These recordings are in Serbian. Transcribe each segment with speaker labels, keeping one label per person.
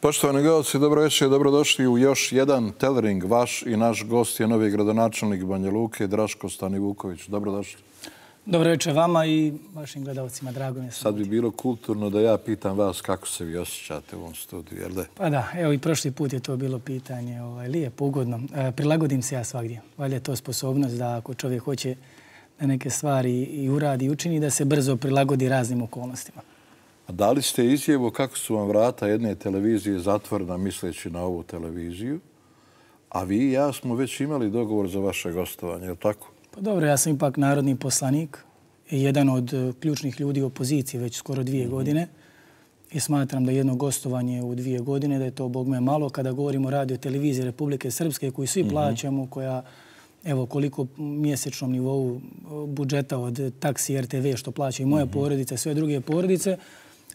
Speaker 1: Poštovani gledalci, dobro večer, dobrodošli u još jedan telering. Vaš i naš gost je novi gradonačelnik Banja Luke, Draško Stanivuković. Dobrodošli.
Speaker 2: Dobro večer vama i vašim gledalcima, drago mi je.
Speaker 1: Sad bi bilo kulturno da ja pitam vas kako se vi osjećate u ovom studiju, jel da?
Speaker 2: Pa da, evo i prošli put je to bilo pitanje lijepo, ugodno. Prilagodim se ja svagdje. Valjda je to sposobnost da ako čovjek hoće da neke stvari i uradi i učini, da se brzo prilagodi raznim okolnostima.
Speaker 1: A dali ste izjavu kako su vam vrata jedne televizije zatvorena misleći na ovu televiziju, a vi i ja smo već imali dogovor za vaše gostovanje, je li tako?
Speaker 2: Pa dobro, ja sam ipak narodni poslanik i jedan od ključnih ljudi opozicije već skoro 2 godine i smatram da jedno gostovanje u 2 godine, da je to bogme malo kada govorimo o radio televiziji Republike Srpske koju svi plaćamo, koja evo koliko mjesečnom nivou budžeta od taksi RTV što plaća i moja porodica i sve druge porodice.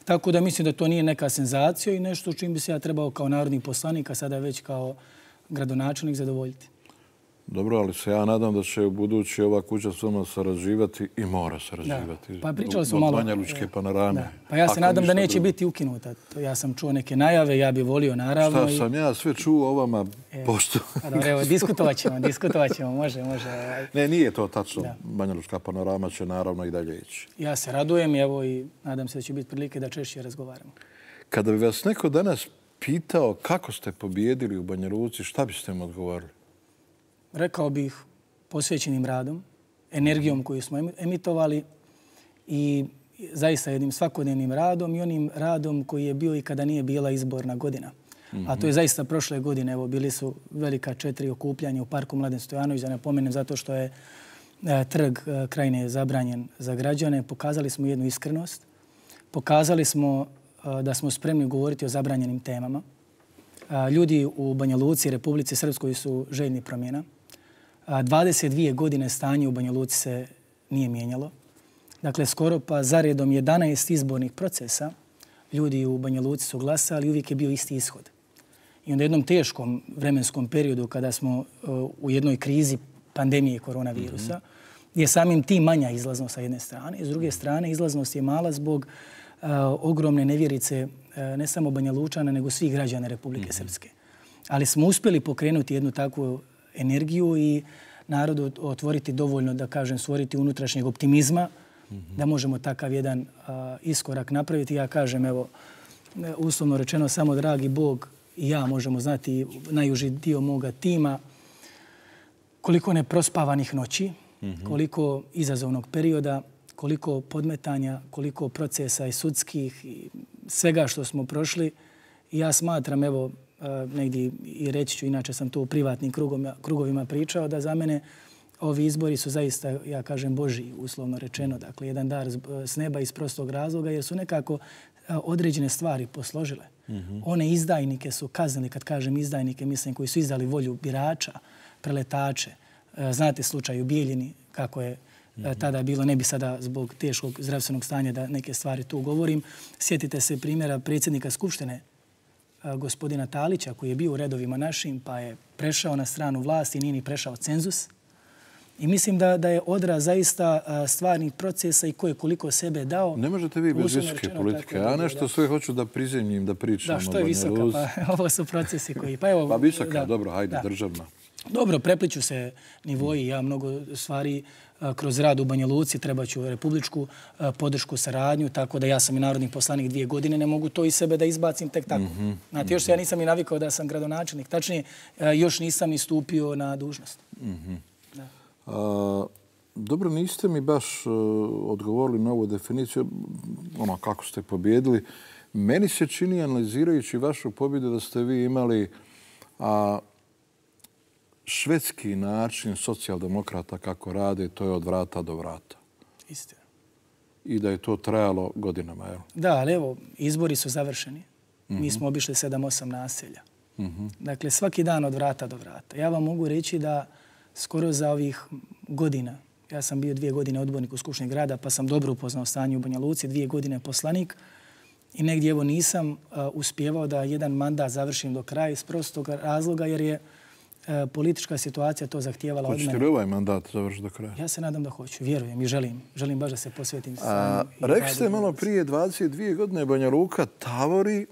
Speaker 2: Tako da mislim da to nije neka senzacija i nešto čim bi se ja trebao kao narodni poslanik, a sada već kao gradonačelnik zadovoljiti.
Speaker 1: Dobro, ali se ja nadam da će u budući ova kuća s vama sarađivati i mora sarađivati.
Speaker 2: Pa pričali smo malo.
Speaker 1: Banja Lučke panorame.
Speaker 2: Pa ja se nadam da neće biti ukinuta. Ja sam čuo neke najave, ja bih volio naravno.
Speaker 1: Šta sam ja sve čuo o vama pošto?
Speaker 2: Pa dobro, evo, diskutovat ćemo, može.
Speaker 1: Ne, nije to tačno. Banja Lučka panorama će naravno i dalje ići.
Speaker 2: Ja se radujem evo i nadam se da će biti prilike da češće razgovaramo.
Speaker 1: Kada bi vas neko danas pitao kako ste pobijedili u Banja Luci, šta biste mu odgovorili?
Speaker 2: Rekao bih posvećenim radom, energijom koju smo emitovali i zaista jednim svakodnevnim radom i onim radom koji je bio i kada nije bila izborna godina. A to je zaista prošle godine. Evo, bili su velika 4 okupljanja u Parku Mladen Stojanović, da ne pomenem zato što je trg Krajine zabranjen za građane. Pokazali smo jednu iskrenost. Pokazali smo da smo spremni govoriti o zabranjenim temama. Ljudi u Banja Luci, Republici Srpskoj su željni promjena. 22 godine stanje u Banja Luci se nije mijenjalo. Dakle, skoro pa zaredom 11 izbornih procesa ljudi u Banja Luci su glasali i uvijek je bio isti ishod. I onda u jednom teškom vremenskom periodu kada smo u jednoj krizi pandemije koronavirusa, je samim tim manja izlaznost sa jedne strane. I s druge strane, izlaznost je mala zbog ogromne nevjerice ne samo Banja Lučana, nego svih građana Republike Srpske. Ali smo uspjeli pokrenuti jednu takvu energiju i narodu otvoriti dovoljno, da kažem, stvoriti unutrašnjeg optimizma, da možemo takav jedan iskorak napraviti. Ja kažem, evo, uslovno rečeno, samo dragi Bog i ja možemo znati, najuži dio moga tima, koliko neprospavanih noći, koliko izazovnog perioda, koliko podmetanja, koliko procesa i sudskih i svega što smo prošli. I ja smatram, evo, negdje i reći ću, inače sam to u privatnim krugovima pričao, da za mene ovi izbori su zaista, ja kažem, Božji, uslovno rečeno. Dakle, jedan dar s neba iz prostog razloga, jer su nekako određene stvari posložile. One izdajnike su kaznili, kad kažem izdajnike, mislim koji su izdali volju birača, preletače. Znate slučaj u Bijeljini, kako je tada bilo, ne bi sada zbog teškog zdravstvenog stanja da neke stvari tu govorim. Sjetite se primjera predsjednika Skupštine, gospodina Talića, koji je bio u redovima našim, pa je prešao na stranu vlasti i nije ni prešao cenzus. I mislim da je odraz zaista stvarnih procesa i ko je koliko sebe dao.
Speaker 1: Ne možete vi bez visoke politike. Ja nešto sve hoću da prizemljim, da pričam o Banja Luci.
Speaker 2: Da, što je visoka? Pa ovo su procesi koji...
Speaker 1: Pa visoka, dobro, hajde, državna.
Speaker 2: Dobro, prepliču se nivoji. Ja mnogo stvari kroz rad u Banja Luci treba ću republičku podršku, saradnju, tako da ja sam i narodni poslanik 2 godine, ne mogu to iz sebe da izbacim tek tako. Znate, još se ja nisam i navikao da sam gradonačelnik. Tačnije, još nisam ni stupio na dužnost.
Speaker 1: Dobro, niste mi baš odgovorili na ovu definiciju, ono kako ste pobjedili. Meni se čini, analizirajući vašu pobjedu, da ste vi imali švedski način socijaldemokrata kako rade, to je od vrata do vrata.
Speaker 2: Istina.
Speaker 1: I da je to trajalo godinama, jel?
Speaker 2: Da, ali evo, izbori su završeni. Mi smo obišli 7-8 naselja. Dakle, svaki dan od vrata do vrata. Ja vam mogu reći da skoro za ovih godina, ja sam bio 2 godine odbornik u Skupštini grada, pa sam dobro upoznao stanje u Banja Luci, 2 godine poslanik i negdje evo nisam uspjevao da jedan mandat završim do kraja iz prostog razloga jer je politička situacija to zahtijevala od mene.
Speaker 1: Hoćete li ovaj mandat završiti do kraja?
Speaker 2: Ja se nadam da hoću, vjerujem i želim. Želim baš da se posvetim.
Speaker 1: Rekli ste malo prije 22 godine Banja Luka tavori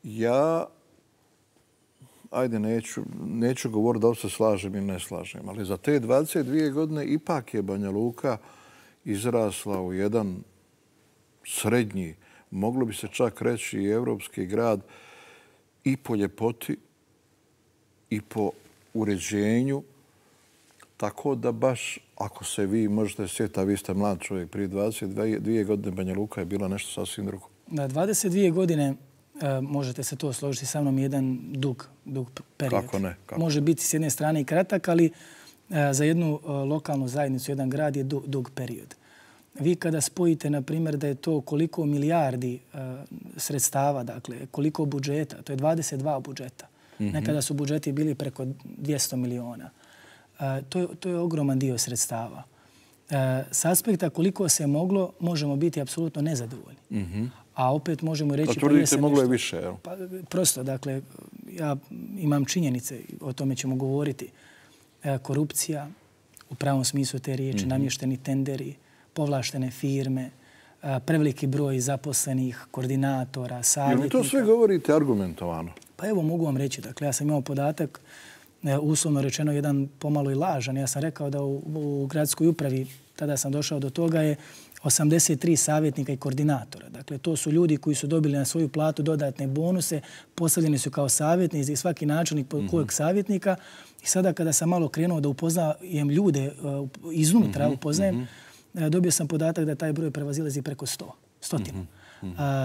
Speaker 1: Ja, ajde, neću govoriti da li se slažem ili ne slažem, ali za te 22 godine ipak je Banja Luka izrasla u jedan srednji, moglo bi se čak reći i evropski grad, i po ljepoti i po uređenju. Tako da baš, ako se vi možete sjetiti, a vi ste mlad čovjek, prije 22 godine Banja Luka je bila nešto sasvim drugo.
Speaker 2: Da, 22 godine, možete se to složiti sa mnom, jedan dug period.
Speaker 1: Kako ne?
Speaker 2: Može biti s jedne strane i kratak, ali za jednu lokalnu zajednicu, jedan grad je dug period. Vi kada spojite, na primjer, da je to koliko milijardi sredstava, dakle, koliko budžeta, to je 22 budžeta. Nekada su budžeti bili preko 200 miliona. To je ogroman dio sredstava. S aspekta koliko se moglo, možemo biti apsolutno nezadovoljni. A opet možemo reći...
Speaker 1: Pa tvrdite, moglo je više, jel?
Speaker 2: Pa, prosto, dakle, ja imam činjenice, o tome ćemo govoriti. Korupcija, u pravom smislu te riječi, namješteni tenderi, povlaštene firme, preveliki broj zaposlenih, koordinatora, savjetnika.
Speaker 1: Jel mi to sve govorite argumentovano?
Speaker 2: Pa evo, mogu vam reći. Dakle, ja sam imao podatak, uslovno rečeno, jedan pomalo i lažan. Ja sam rekao da u gradskoj upravi, tada sam došao do toga, je 83 savjetnika i koordinatora. Dakle, to su ljudi koji su dobili na svoju platu dodatne bonuse, postavljeni su kao savjetnici i svaki načelnik kojeg savjetnika. I sada kada sam malo krenuo da upoznajem ljude iznutra, upoznajem, dobio sam podatak da taj broj prevazilazi preko 100.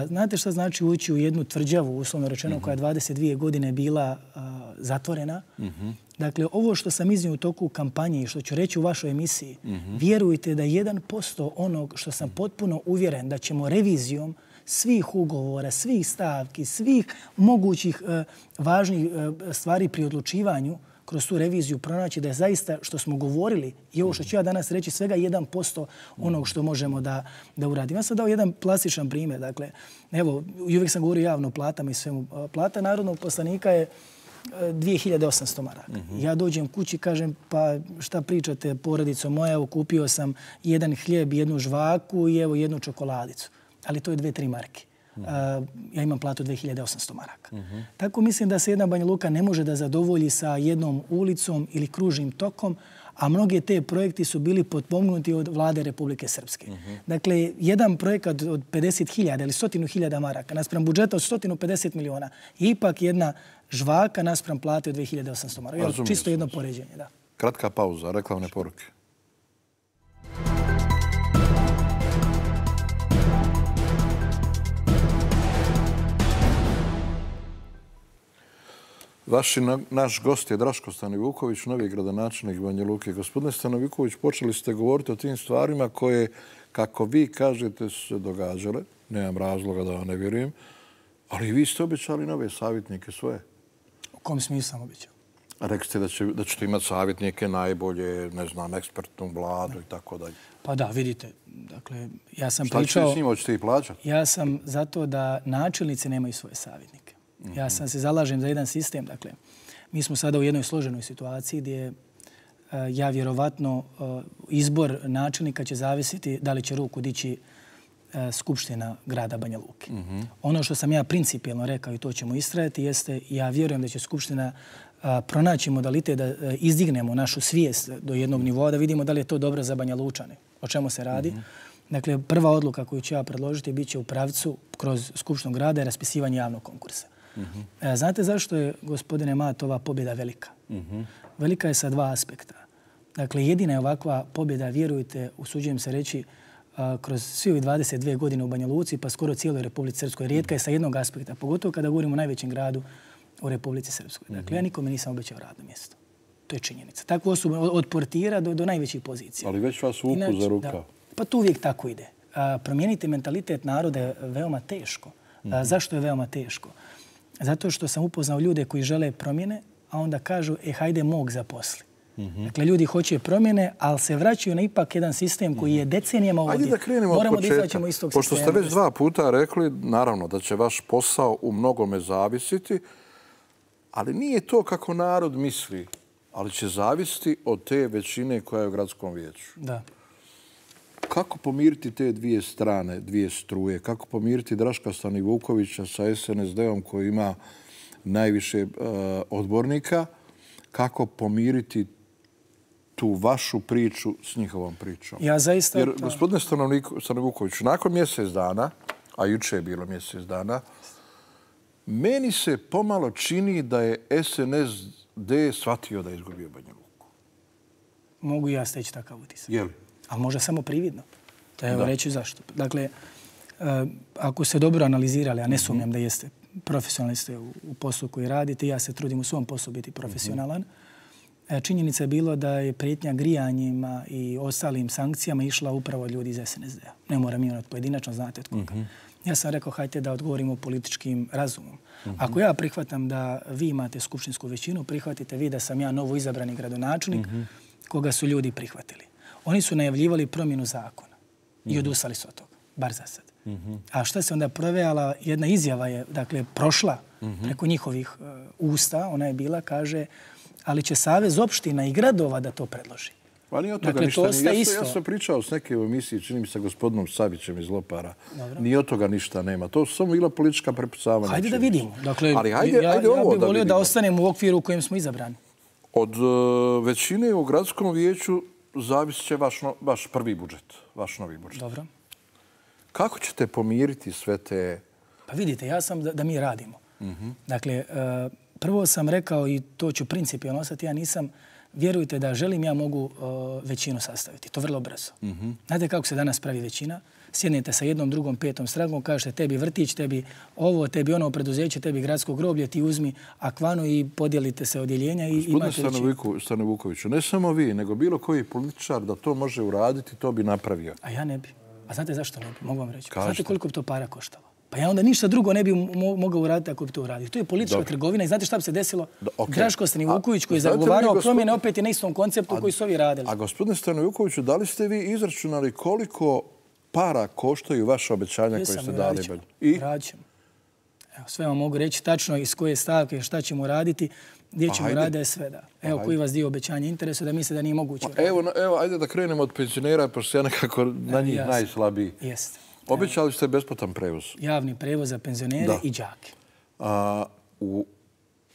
Speaker 2: Znate šta znači ući u jednu tvrđavu, uslovno rečeno, koja je 22 godine bila zatvorena? Dakle, ovo što sam iznio u toku kampanje i što ću reći u vašoj emisiji, vjerujte da 1% onog što sam potpuno uvjeren da ćemo revizijom svih ugovora, svih stavki, svih mogućih važnih stvari pri odlučivanju kroz tu reviziju pronaći da je zaista što smo govorili i ovo što ću ja danas reći svega 1% onog što možemo da uradimo. Ja sam dao jedan plastičan primjer. Dakle, evo, uvijek sam govorio javno o platama i svemu. Plata narodnog poslanika je 2800 maraka. Ja dođem kući i kažem, pa šta pričate, porodico moja, evo kupio sam jedan hljeb, jednu žvaku i evo jednu čokoladicu. Ali to je 2-3 marke. Ja imam platu 2800 maraka. Tako mislim da se jedna Banja Luka ne može da zadovolji sa jednom ulicom ili kružnim tokom, a mnoge te projekti su bili potpomognuti od vlade Republike Srpske. Dakle, jedan projekat od 50.000 ili 100.000 maraka naspram budžeta od 150 miliona je ipak jedna žvaka naspram plate od 2800 maraka. Čisto jedno poređenje, da.
Speaker 1: Kratka pauza, reklamne poruke. Naš gost je Draško Stanovuković, novi gradonačelnik Banja Luke. Gospodine Stanovuković, počeli ste govoriti o tim stvarima koje, kako vi kažete, su se događale. Nemam razloga da vam ne vjerujem. Ali vi ste obećali nove savjetnike svoje.
Speaker 2: U kom smislu sam obećao?
Speaker 1: Rekli ste da ćete imati savjetnike najbolje, ne znam, ekspertnu vladu i tako dalje.
Speaker 2: Pa da, vidite. Dakle, ja sam
Speaker 1: pričao... Šta ćete s njima, hoćete ih plaćati?
Speaker 2: Ja sam zato da načelnici nemaju svoje savjetnike. Ja sam se zalažem za jedan sistem. Dakle, mi smo sada u jednoj složenoj situaciji gdje ja vjerovatno izbor načelnika će zavisiti da li će ruku dići Skupština grada Banja Luke. Ono što sam ja principijelno rekao i to ćemo istrajati jeste ja vjerujem da će Skupština pronaći modalitet da izdignemo našu svijest do jednog nivoa, da vidimo da li je to dobro za Banja Lučane. O čemu se radi? Dakle, prva odluka koju ću ja predložiti bit će u pravcu kroz Skupštinu grada i raspisivanje javnog konkursa. Znate zašto je, gospodine Mat, ova pobjeda velika? Velika je sa dva aspekta. Dakle, jedina je ovakva pobjeda, vjerujte, usuđujem se reći, kroz svi ovih 22 godine u Banja Luci, pa skoro cijeloj Republici Srpskoj. Rijetka je sa jednog aspekta, pogotovo kada govorimo o najvećem gradu u Republici Srpskoj. Dakle, ja nikome nisam obećao radno mjesto. To je činjenica. Tako osoba od portira do najvećih pozicija.
Speaker 1: Ali već vas vuku za rukav.
Speaker 2: Pa to uvijek tako ide. Promijeniti mentalitet naroda je veoma teško. Zašto je veoma teško? Zato što sam upoznao ljude koji žele promjene, a onda kažu, hajde mog zaposli. Dakle, ljudi hoće promjene, ali se vraćaju na ipak jedan sistem koji je decenijama ovdje.
Speaker 1: Ajde da krenemo od početka. Pošto ste već 2 puta rekli, naravno, da će vaš posao u mnogome zavisiti, ali nije to kako narod misli, ali će zavisiti od te većine koja je u gradskom vijeću.
Speaker 2: Da.
Speaker 1: kako pomiriti te dvije strane, dvije struje? Kako pomiriti Draška Stanivukovića sa SNSD-om koji ima najviše odbornika? Kako pomiriti tu vašu priču s njihovom pričom?
Speaker 2: Ja zaista...
Speaker 1: Jer, gospodine Stanivukoviću, nakon mjesec dana, a juče je bilo mjesec dana, meni se pomalo čini da je SNSD shvatio da je izgubio Banja Luku.
Speaker 2: Mogu ja steći takav utisak.
Speaker 1: Je li?
Speaker 2: Ali možda samo prividno. Evo reći zašto. Dakle, ako ste dobro analizirali, a ne sumnjam da jeste, profesionalni ste u poslu koji radite, ja se trudim u svom poslu biti profesionalan, činjenica je bilo da je prijetnja grijanjima i ostalim sankcijama išla upravo od ljudi iz SNSD-a. Ne moram imenovati pojedinačno, znate od koga. Ja sam rekao, hajte da odgovorimo političkim razumom. Ako ja prihvatam da vi imate skupštinsku većinu, prihvatite vi da sam ja novo izabrani gradonačelnik koga su ljudi prihvatili. Oni su najavljivali promjenu zakona i odustali su od toga, bar za sad. A šta se onda provejala? Jedna izjava je, dakle, prošla preko njihovih usta. Ona je bila, kaže, ali će Savez opština i gradova da to predloži.
Speaker 1: Pa nije od toga ništa. Ja sam pričao s neke u emisiji, čini mi se gospodinom Savićem iz Lopara. Nije od toga ništa nema. To su samo bila politička prepucavanja.
Speaker 2: Hajde da vidimo. Dakle, ja bih volio da ostanemo u okviru u kojem smo izabrani.
Speaker 1: Od većine u gradskom vijeću zavisit će vaš prvi budžet, vaš novi budžet.
Speaker 2: Dobro.
Speaker 1: Kako ćete pomiriti sve te...
Speaker 2: Pa vidite, ja sam da mi radimo. Dakle, prvo sam rekao i to ću principijalno ostati, ja nisam, vjerujte da želim, ja mogu većinu sastaviti. To vrlo brzo. Znate kako se danas pravi većina? Sjednete sa jednom, drugom, petom strankom, kažete tebi vrtić, tebi ovo, tebi ono preduzeće, tebi gradsko groblje, ti uzmi akvanu i podijelite se odjeljenja i imate većinu.
Speaker 1: Gospodine Stanivukoviću, ne samo vi, nego bilo koji političar da to može uraditi, to bi napravio.
Speaker 2: A ja ne bi. A znate zašto ne bi? Mogu vam reći. Znate koliko bi to para koštalo? Pa ja onda ništa drugo ne bi mogao uraditi ako bi to uradio. To je politička trgovina i znate šta bi se desilo? Draško Stanivuković koji je zagovarao promjene opet je na istom konceptu koji su ovi radili.
Speaker 1: A gospodine Stanivukoviću, da li ste vi izračunali koliko para koštaju vaše obećanja koje ste dali?
Speaker 2: Radit ćemo. Sve vam mogu reći tačno iz koje stavke, šta ćemo raditi, gdje ćemo raditi, sve da. Evo koji vas dio obećanja interesuje da misle da nije moguće uraditi.
Speaker 1: Evo, ajde da krenemo od penzionera, pošto se ja nekako na njih najslabiji.
Speaker 2: Jeste.
Speaker 1: Obećali ste besplatan prevoz.
Speaker 2: Javni prevoz za penzionere i đake.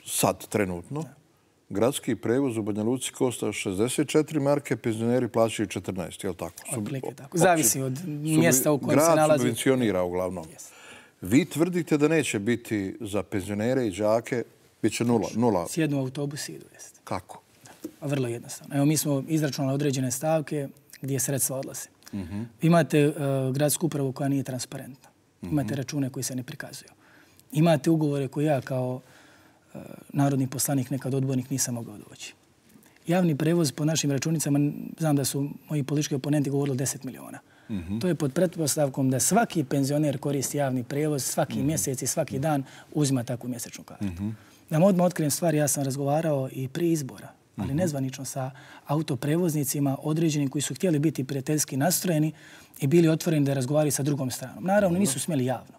Speaker 1: Sad, trenutno, gradski prevoz u Banja Luci košta 64 marke, penzioneri plaćaju 14, je li tako?
Speaker 2: Otprilike tako. Zavisi od mjesta u kojem se nalazi.
Speaker 1: Grad subvencionira uglavnom. Vi tvrdite da neće biti za penzionere i đake, bit će nula.
Speaker 2: Sjednu autobus i idu.
Speaker 1: Kako?
Speaker 2: Vrlo jednostavno. Evo, mi smo izračunali određene stavke gdje sredstva odlaze. Imate gradsku upravu koja nije transparentna. Imate račune koji se ne prikazuju. Imate ugovore koje ja kao narodni poslanik, nekad odbornik, nisam mogao doći. Javni prevoz po našim računicama, znam da su moji politički oponenti govorili 10 miliona. To je pod pretpostavkom da svaki penzioner koristi javni prevoz, svaki mjesec i svaki dan uzima takvu mjesečnu kartu. Da vam odmah otkrijem stvari, ja sam razgovarao i prije izbora, ali nezvanično sa autoprevoznicima određenim koji su htjeli biti prijateljski nastrojeni i bili otvoreni da razgovaraju sa drugom stranom. Naravno, nisu smjeli javno.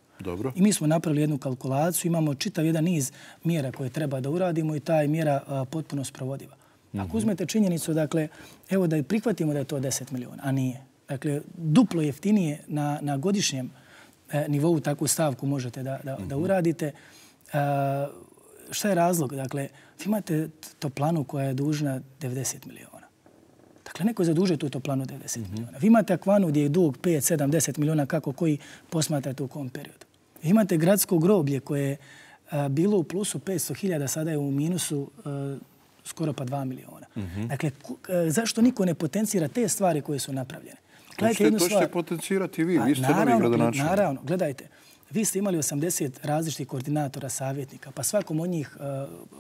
Speaker 2: I mi smo napravili jednu kalkulaciju, imamo čitav jedan niz mjera koje treba da uradimo i ta je mjera potpuno sprovodiva. Ako uzmete činjenicu, dakle, evo da prihvatimo da je to 10 miliona, a nije. Dakle, duplo jeftinije na godišnjem nivou takvu stavku možete da uradite. Šta je razlog? Dakle, vi imate toplanu koja je dužna 90 miliona. Dakle, neko je zadužio tu toplanu 90 miliona. Vi imate akvanu gdje je dug 5, 7, 10 miliona, kako koji posmatrate u kom periodu. Vi imate gradsko groblje koje je bilo u plusu 500.000, sada je u minusu skoro pa 2 miliona. Dakle, zašto niko ne potencira te stvari koje su napravljene?
Speaker 1: To ćete potencirati vi, vi ste novi gradonačelnik.
Speaker 2: Naravno, gledajte. Vi ste imali 80 različitih koordinatora, savjetnika, pa svakom od njih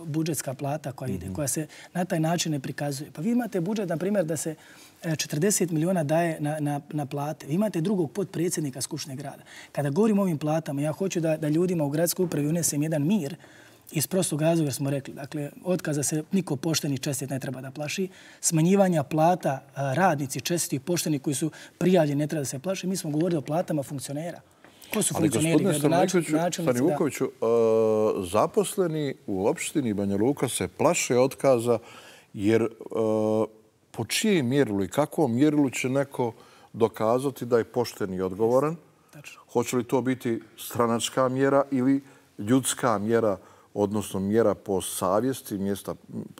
Speaker 2: budžetska plata koja ide, koja se na taj način ne prikazuje. Pa vi imate budžet, na primjer, da se 40 miliona daje na plate. Vi imate drugog potpredsjednika Skupštine grada. Kada govorim o ovim platama, ja hoću da ljudima u gradskoj upravi unesem jedan mir iz prostog razloga, jer smo rekli. Dakle, otkaza se niko pošteni čestit ne treba da plaši. Smanjivanja plata radnici čestiti i pošteni koji su prijavljeni ne treba da se plaši. Mi smo govorili o platama funkcionera. Ko su funkcioneri?
Speaker 1: Ali gospodine Stanivukoviću, zaposleni u opštini Banja Luka se plaše otkaza jer po čijem mjerilu i kakvom mjerilu će neko dokazati da je pošten i odgovoran. Hoće li to biti stranačka mjera ili ljudska mjera, odnosno mjera po savjesti,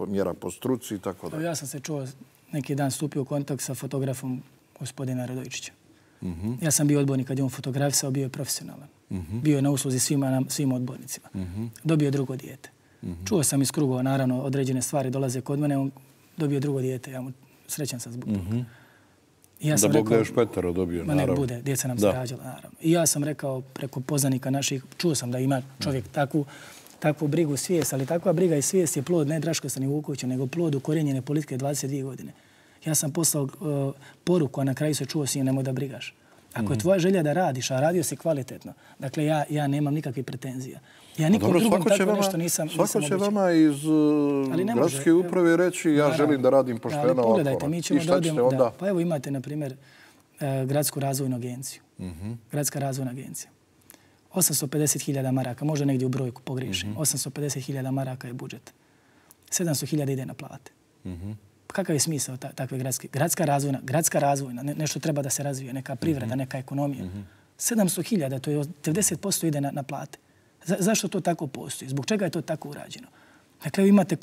Speaker 1: mjera po struci i tako dalje?
Speaker 2: Ja sam se čuo, neki dan stupio u kontakt sa fotografom gospodina Radojičića. Ja sam bio odbornik kad je on fotografisao, bio je profesionalan. Bio je na usluzi svim odbornicima. Dobio je drugo dijete. Čuo sam iz krugova, naravno, određene stvari dolaze kod mene, on dobio drugo dijete. Ja mu srećan sam zbog toga.
Speaker 1: Da Bog da još petero dobio, naravno.
Speaker 2: Nek bude, djeca nam se rađala, naravno. I ja sam rekao preko poznanika naših, čuo sam da ima čovjek takvu brigu, svijest, ali takva briga i svijest je plod ne Draškosa ni Vukovića, nego plod ukorijenjene politike 22 godine. Ja sam poslao poruku, a na kraju se čuo si nemoj da brigaš. Ako je tvoja želja da radiš, a radio si kvalitetno, dakle ja nemam nikakvih pretenzija. Ja nikom drugom tako nešto nisam obećao.
Speaker 1: Svako će vama iz gradske uprave reći ja želim da radim pošteno ovako.
Speaker 2: Pogledajte, mi ćemo da odemo... Pa evo imate, na primjer, Gradsku razvojnu agenciju. Gradska razvojna agencija. 850.000 maraka, možda negdje u brojku pogriješim. 850.000 maraka je budžet. 700.000 ide na plate. Kakav je smisao takve gradska razvojna, nešto treba da se razvije, neka privreda, neka ekonomija. 700.000, to je 90% ide na plate. Zašto to tako postoji? Zbog čega je to tako urađeno? Dakle, imate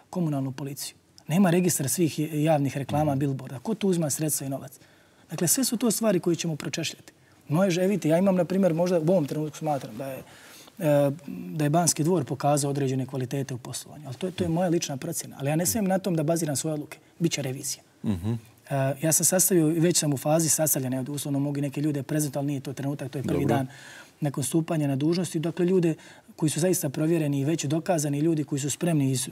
Speaker 2: komunalnu policiju. Nema registra svih javnih reklama, billboarda. Ko tu uzma sredstva i novac? Dakle, sve su to stvari koje ćemo pročešljati. Vidite, ja imam, na primjer, možda u ovom trenutku smatram da je Banski dvor pokazao određene kvalitete u poslovanju. Ali to je moja lična procjena. Ali ja ne smijem na tom da baziram svoje odluke. Biće revizija. Ja sam sastavio, već sam u fazi sastavljanja, uslovno mogu i neke ljude prezentovati, ali nije to trenutak, to je prvi dan nakon stupanja na dužnosti. Dakle, ljude koji su zaista provjereni i već dokazani, ljudi koji su spremni iz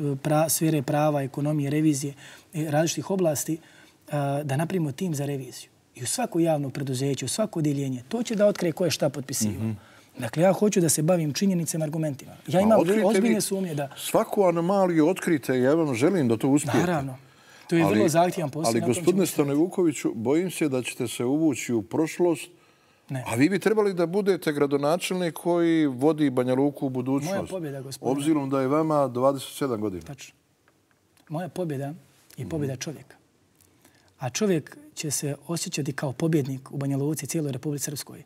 Speaker 2: sfere prava, ekonomije, revizije, različitih oblasti, da napravimo tim za reviziju. I u svako javno preduzeće, u svako odjeljenje, to će da otkrije ko je šta potpisivao. Dakle, ja hoću da se bavim činjenicama i argumentima. Ja imam ozbiljne sumnje da...
Speaker 1: Svaku anomaliju otkrite i ja vam želim da to uspijete.
Speaker 2: Naravno. To je vrlo zahtjevan posao.
Speaker 1: Ali, gospodine Stanovukoviću, bojim se da ćete se uvući u prošlost, a vi bi trebali da budete gradonačelnik koji vodi Banja Luku u budućnost.
Speaker 2: Moja pobjeda, gospodine.
Speaker 1: Obzirom da je vama 27 godina.
Speaker 2: Tačno. Moja pobjeda je pobjeda čovjeka. A čovjek će se osjećati kao pobjednik u Banja Luci i cijeloj Republici Srpskoj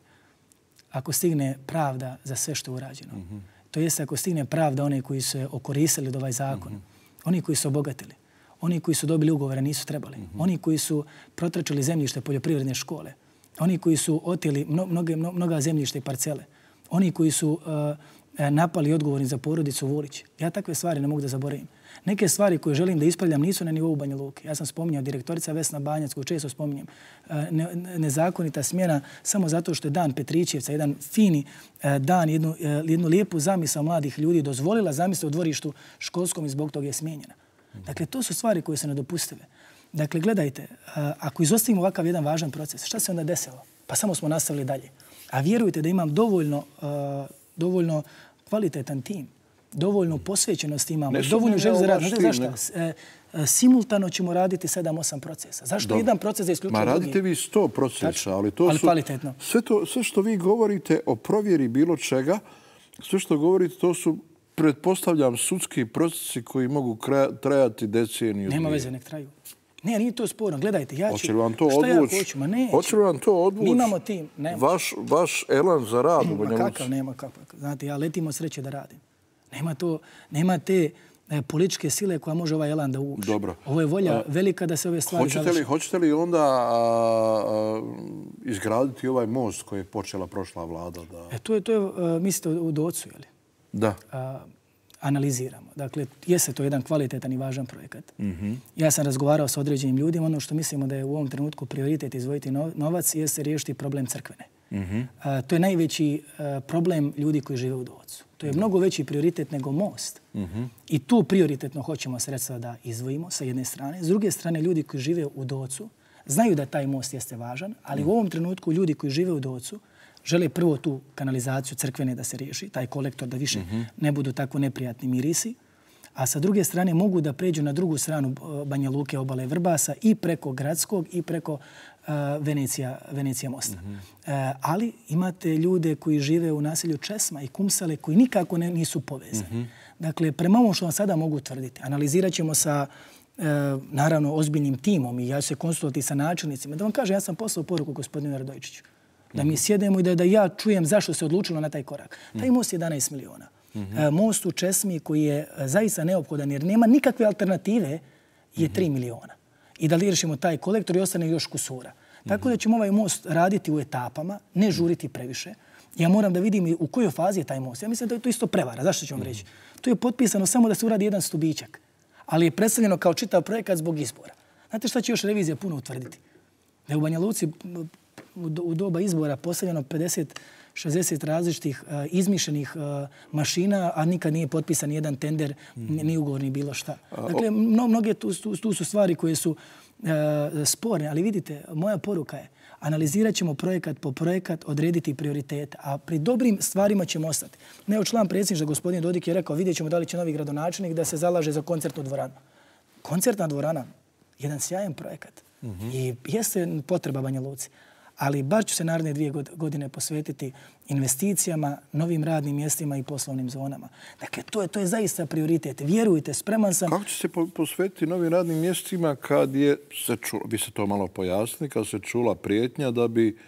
Speaker 2: ako stigne pravda za sve što je urađeno. To jeste ako stigne pravda one koji su okoristili od ovaj zakon, oni koji su obogatili, oni koji su dobili ugovore, nisu trebali, oni koji su protračili zemljište poljoprivredne škole, oni koji su oteli mnoga zemljište i parcele, oni koji su napali odgovorni za porodicu Vulić. Ja takve stvari ne mogu da zaboravim. Neke stvari koje želim da ispravljam nisu na nivou Banja Luke. Ja sam spominjao direktorica Vesna Banjac, koju često spominjem, nezakonita smjena samo zato što je dan Petrićevca, jedan fini dan, jednu lijepu zamisao mladih ljudi dozvolila zamisao u dvorištu školskom i zbog toga je smijenjena. Dakle, to su stvari koje se ne dopustive. Dakle, gledajte, ako izostavimo ovakav jedan važan proces, šta se onda desilo? Pa samo smo nastavili dalje. A vjerujte da imam dovoljno kvalitetan tim, dovoljno posvećenost imamo, dovoljno želju za rad. Zašto? Simultano ćemo raditi 7-8 procesa. Zašto jedan proces da isključuje drugi?
Speaker 1: Radite vi 100 procesa, ali to
Speaker 2: su... kvalitetno.
Speaker 1: Sve što vi govorite o provjeri bilo čega, sve što govorite, to su, pretpostavljam, sudski procesi koji mogu trajati deceniju.
Speaker 2: Nema veze, nek traju. Ne, nije to sporno. Gledajte, ja ću...
Speaker 1: Hoće li vam to odvući? Hoće li vam to odvući?
Speaker 2: Mi imamo tim.
Speaker 1: Vaš elan za rad u Banja Luci?
Speaker 2: Kakav nema, kakav. Znate, ja letim od sreće da radim. Nema te političke sile koja može ovaj elan da uvuči.
Speaker 1: Dobro.
Speaker 2: Ovo je volja velika da se ove stvari završi.
Speaker 1: Hoćete li onda izgraditi ovaj most koji je počela prošla vlada?
Speaker 2: To je, mislite, u Docu, je li?
Speaker 1: Da.
Speaker 2: Analiziramo. Dakle, jeste to jedan kvalitetan i važan projekat. Ja sam razgovarao s određenim ljudima. Ono što mislimo da je u ovom trenutku prioritet izvojiti novac jeste riješiti problem crkvene. To je najveći problem ljudi koji žive u Docu. To je mnogo veći prioritet nego most. I tu prioritetno hoćemo sredstva da izvojimo sa jedne strane. S druge strane, ljudi koji žive u Docu znaju da taj most jeste važan, ali u ovom trenutku ljudi koji žive u Docu žele prvo tu kanalizaciju crkvene da se riješi, taj kolektor da više ne budu tako neprijatni mirisi, a sa druge strane mogu da pređu na drugu stranu Banja Luke, obale Vrbasa i preko Gradskog i preko Venecija mosta. Ali imate ljude koji žive u naselju Česma i Kumsale koji nikako nisu povezani. Dakle, prema ovom što vam sada mogu tvrditi, analizirat ćemo sa naravno ozbiljnim timom i ja ću se konsultovati sa načelnicima, da vam kažem, ja sam poslao poruku gospodinu Radojičiću. Da mi sjedemo i da ja čujem zašto se odlučilo na taj korak. Taj most je 11 miliona. Most u Česmi koji je zaista neophodan jer nema nikakve alternative je 3 miliona. I da li riješimo taj kolektor i ostane još kusura. Tako da ćemo ovaj most raditi u etapama, ne žuriti previše. Ja moram da vidim u kojoj fazi je taj most. Ja mislim da je to isto prevara. Zašto ću vam reći? To je potpisano samo da se uradi jedan stubićak. Ali je predstavljeno kao čitav projekat zbog izbora. Znate šta će još revizija puno utvrditi? Da je u Banja Luci u doba izbora postavljeno 50-60 različitih izmišljenih mašina, a nikad nije potpisan jedan tender, ni ugovor, ni bilo šta. Dakle, mnoge tu su stvari koje su sporne, ali vidite, moja poruka je analizirat ćemo projekat po projekat, odrediti prioritete, a pri dobrim stvarima ćemo ostati. Neo član predsjedništva, gospodin Dodik, je rekao vidjet ćemo da li će novi gradonačelnik da se zalaže za koncertnu dvoranu. Koncertna dvorana, jedan sjajan projekat. I jeste potreba Banja Luci. Ali bar ću se naredne 2 godine posvetiti investicijama, novim radnim mjestima i poslovnim zonama. Dakle, to je zaista prioritet. Vjerujte, spreman sam...
Speaker 1: Kako će se posvetiti novim radnim mjestima kad je se čula, vi ste to malo pojasnili, kad se čula prijetnja da bi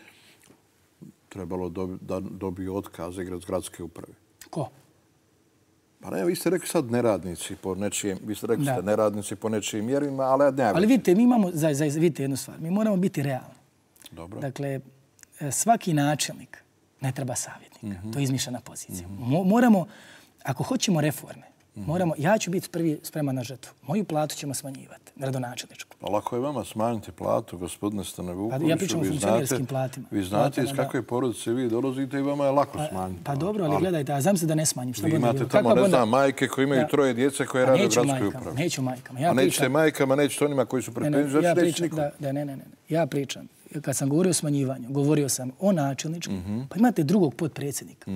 Speaker 1: trebalo da dobiju otkaze gradske uprave?
Speaker 2: Ko?
Speaker 1: Pa ne, vi ste rekli sad neradnici po nečijem, vi ste rekli ste neradnici po nečijim mjerima, ali ne...
Speaker 2: Ali vidite, mi imamo, vidite jednu stvar, mi moramo biti realni.
Speaker 1: Dobro.
Speaker 2: Dakle, svaki načelnik ne treba savjetnika. To je izmišljena pozicija. Moramo, ako hoćemo reforme, ja ću biti prvi spreman na žrtvu. Moju platu ćemo smanjivati, gradonačelničku.
Speaker 1: Pa lako je vama smanjiti platu, gospodine Stane Vukoviću.
Speaker 2: Ja pričam o funkcionerskim platima.
Speaker 1: Vi znate iz kakve porodice vi dolazite i vama je lako smanjiti.
Speaker 2: Pa dobro, ali gledajte, a znam se da ne smanjim.
Speaker 1: Vi imate tamo, ne znam, majke koji imaju 3 djece koje rade u gradskoj upravi.
Speaker 2: Neću majkama.
Speaker 1: A nećete majkama, nećete onima koji su pred penzijom, znači nećete nikom.
Speaker 2: Ne. Ja pričam. Kad sam govorio o smanjivanju, govorio sam o načelničkom, pa imate drugog potpredsjednika.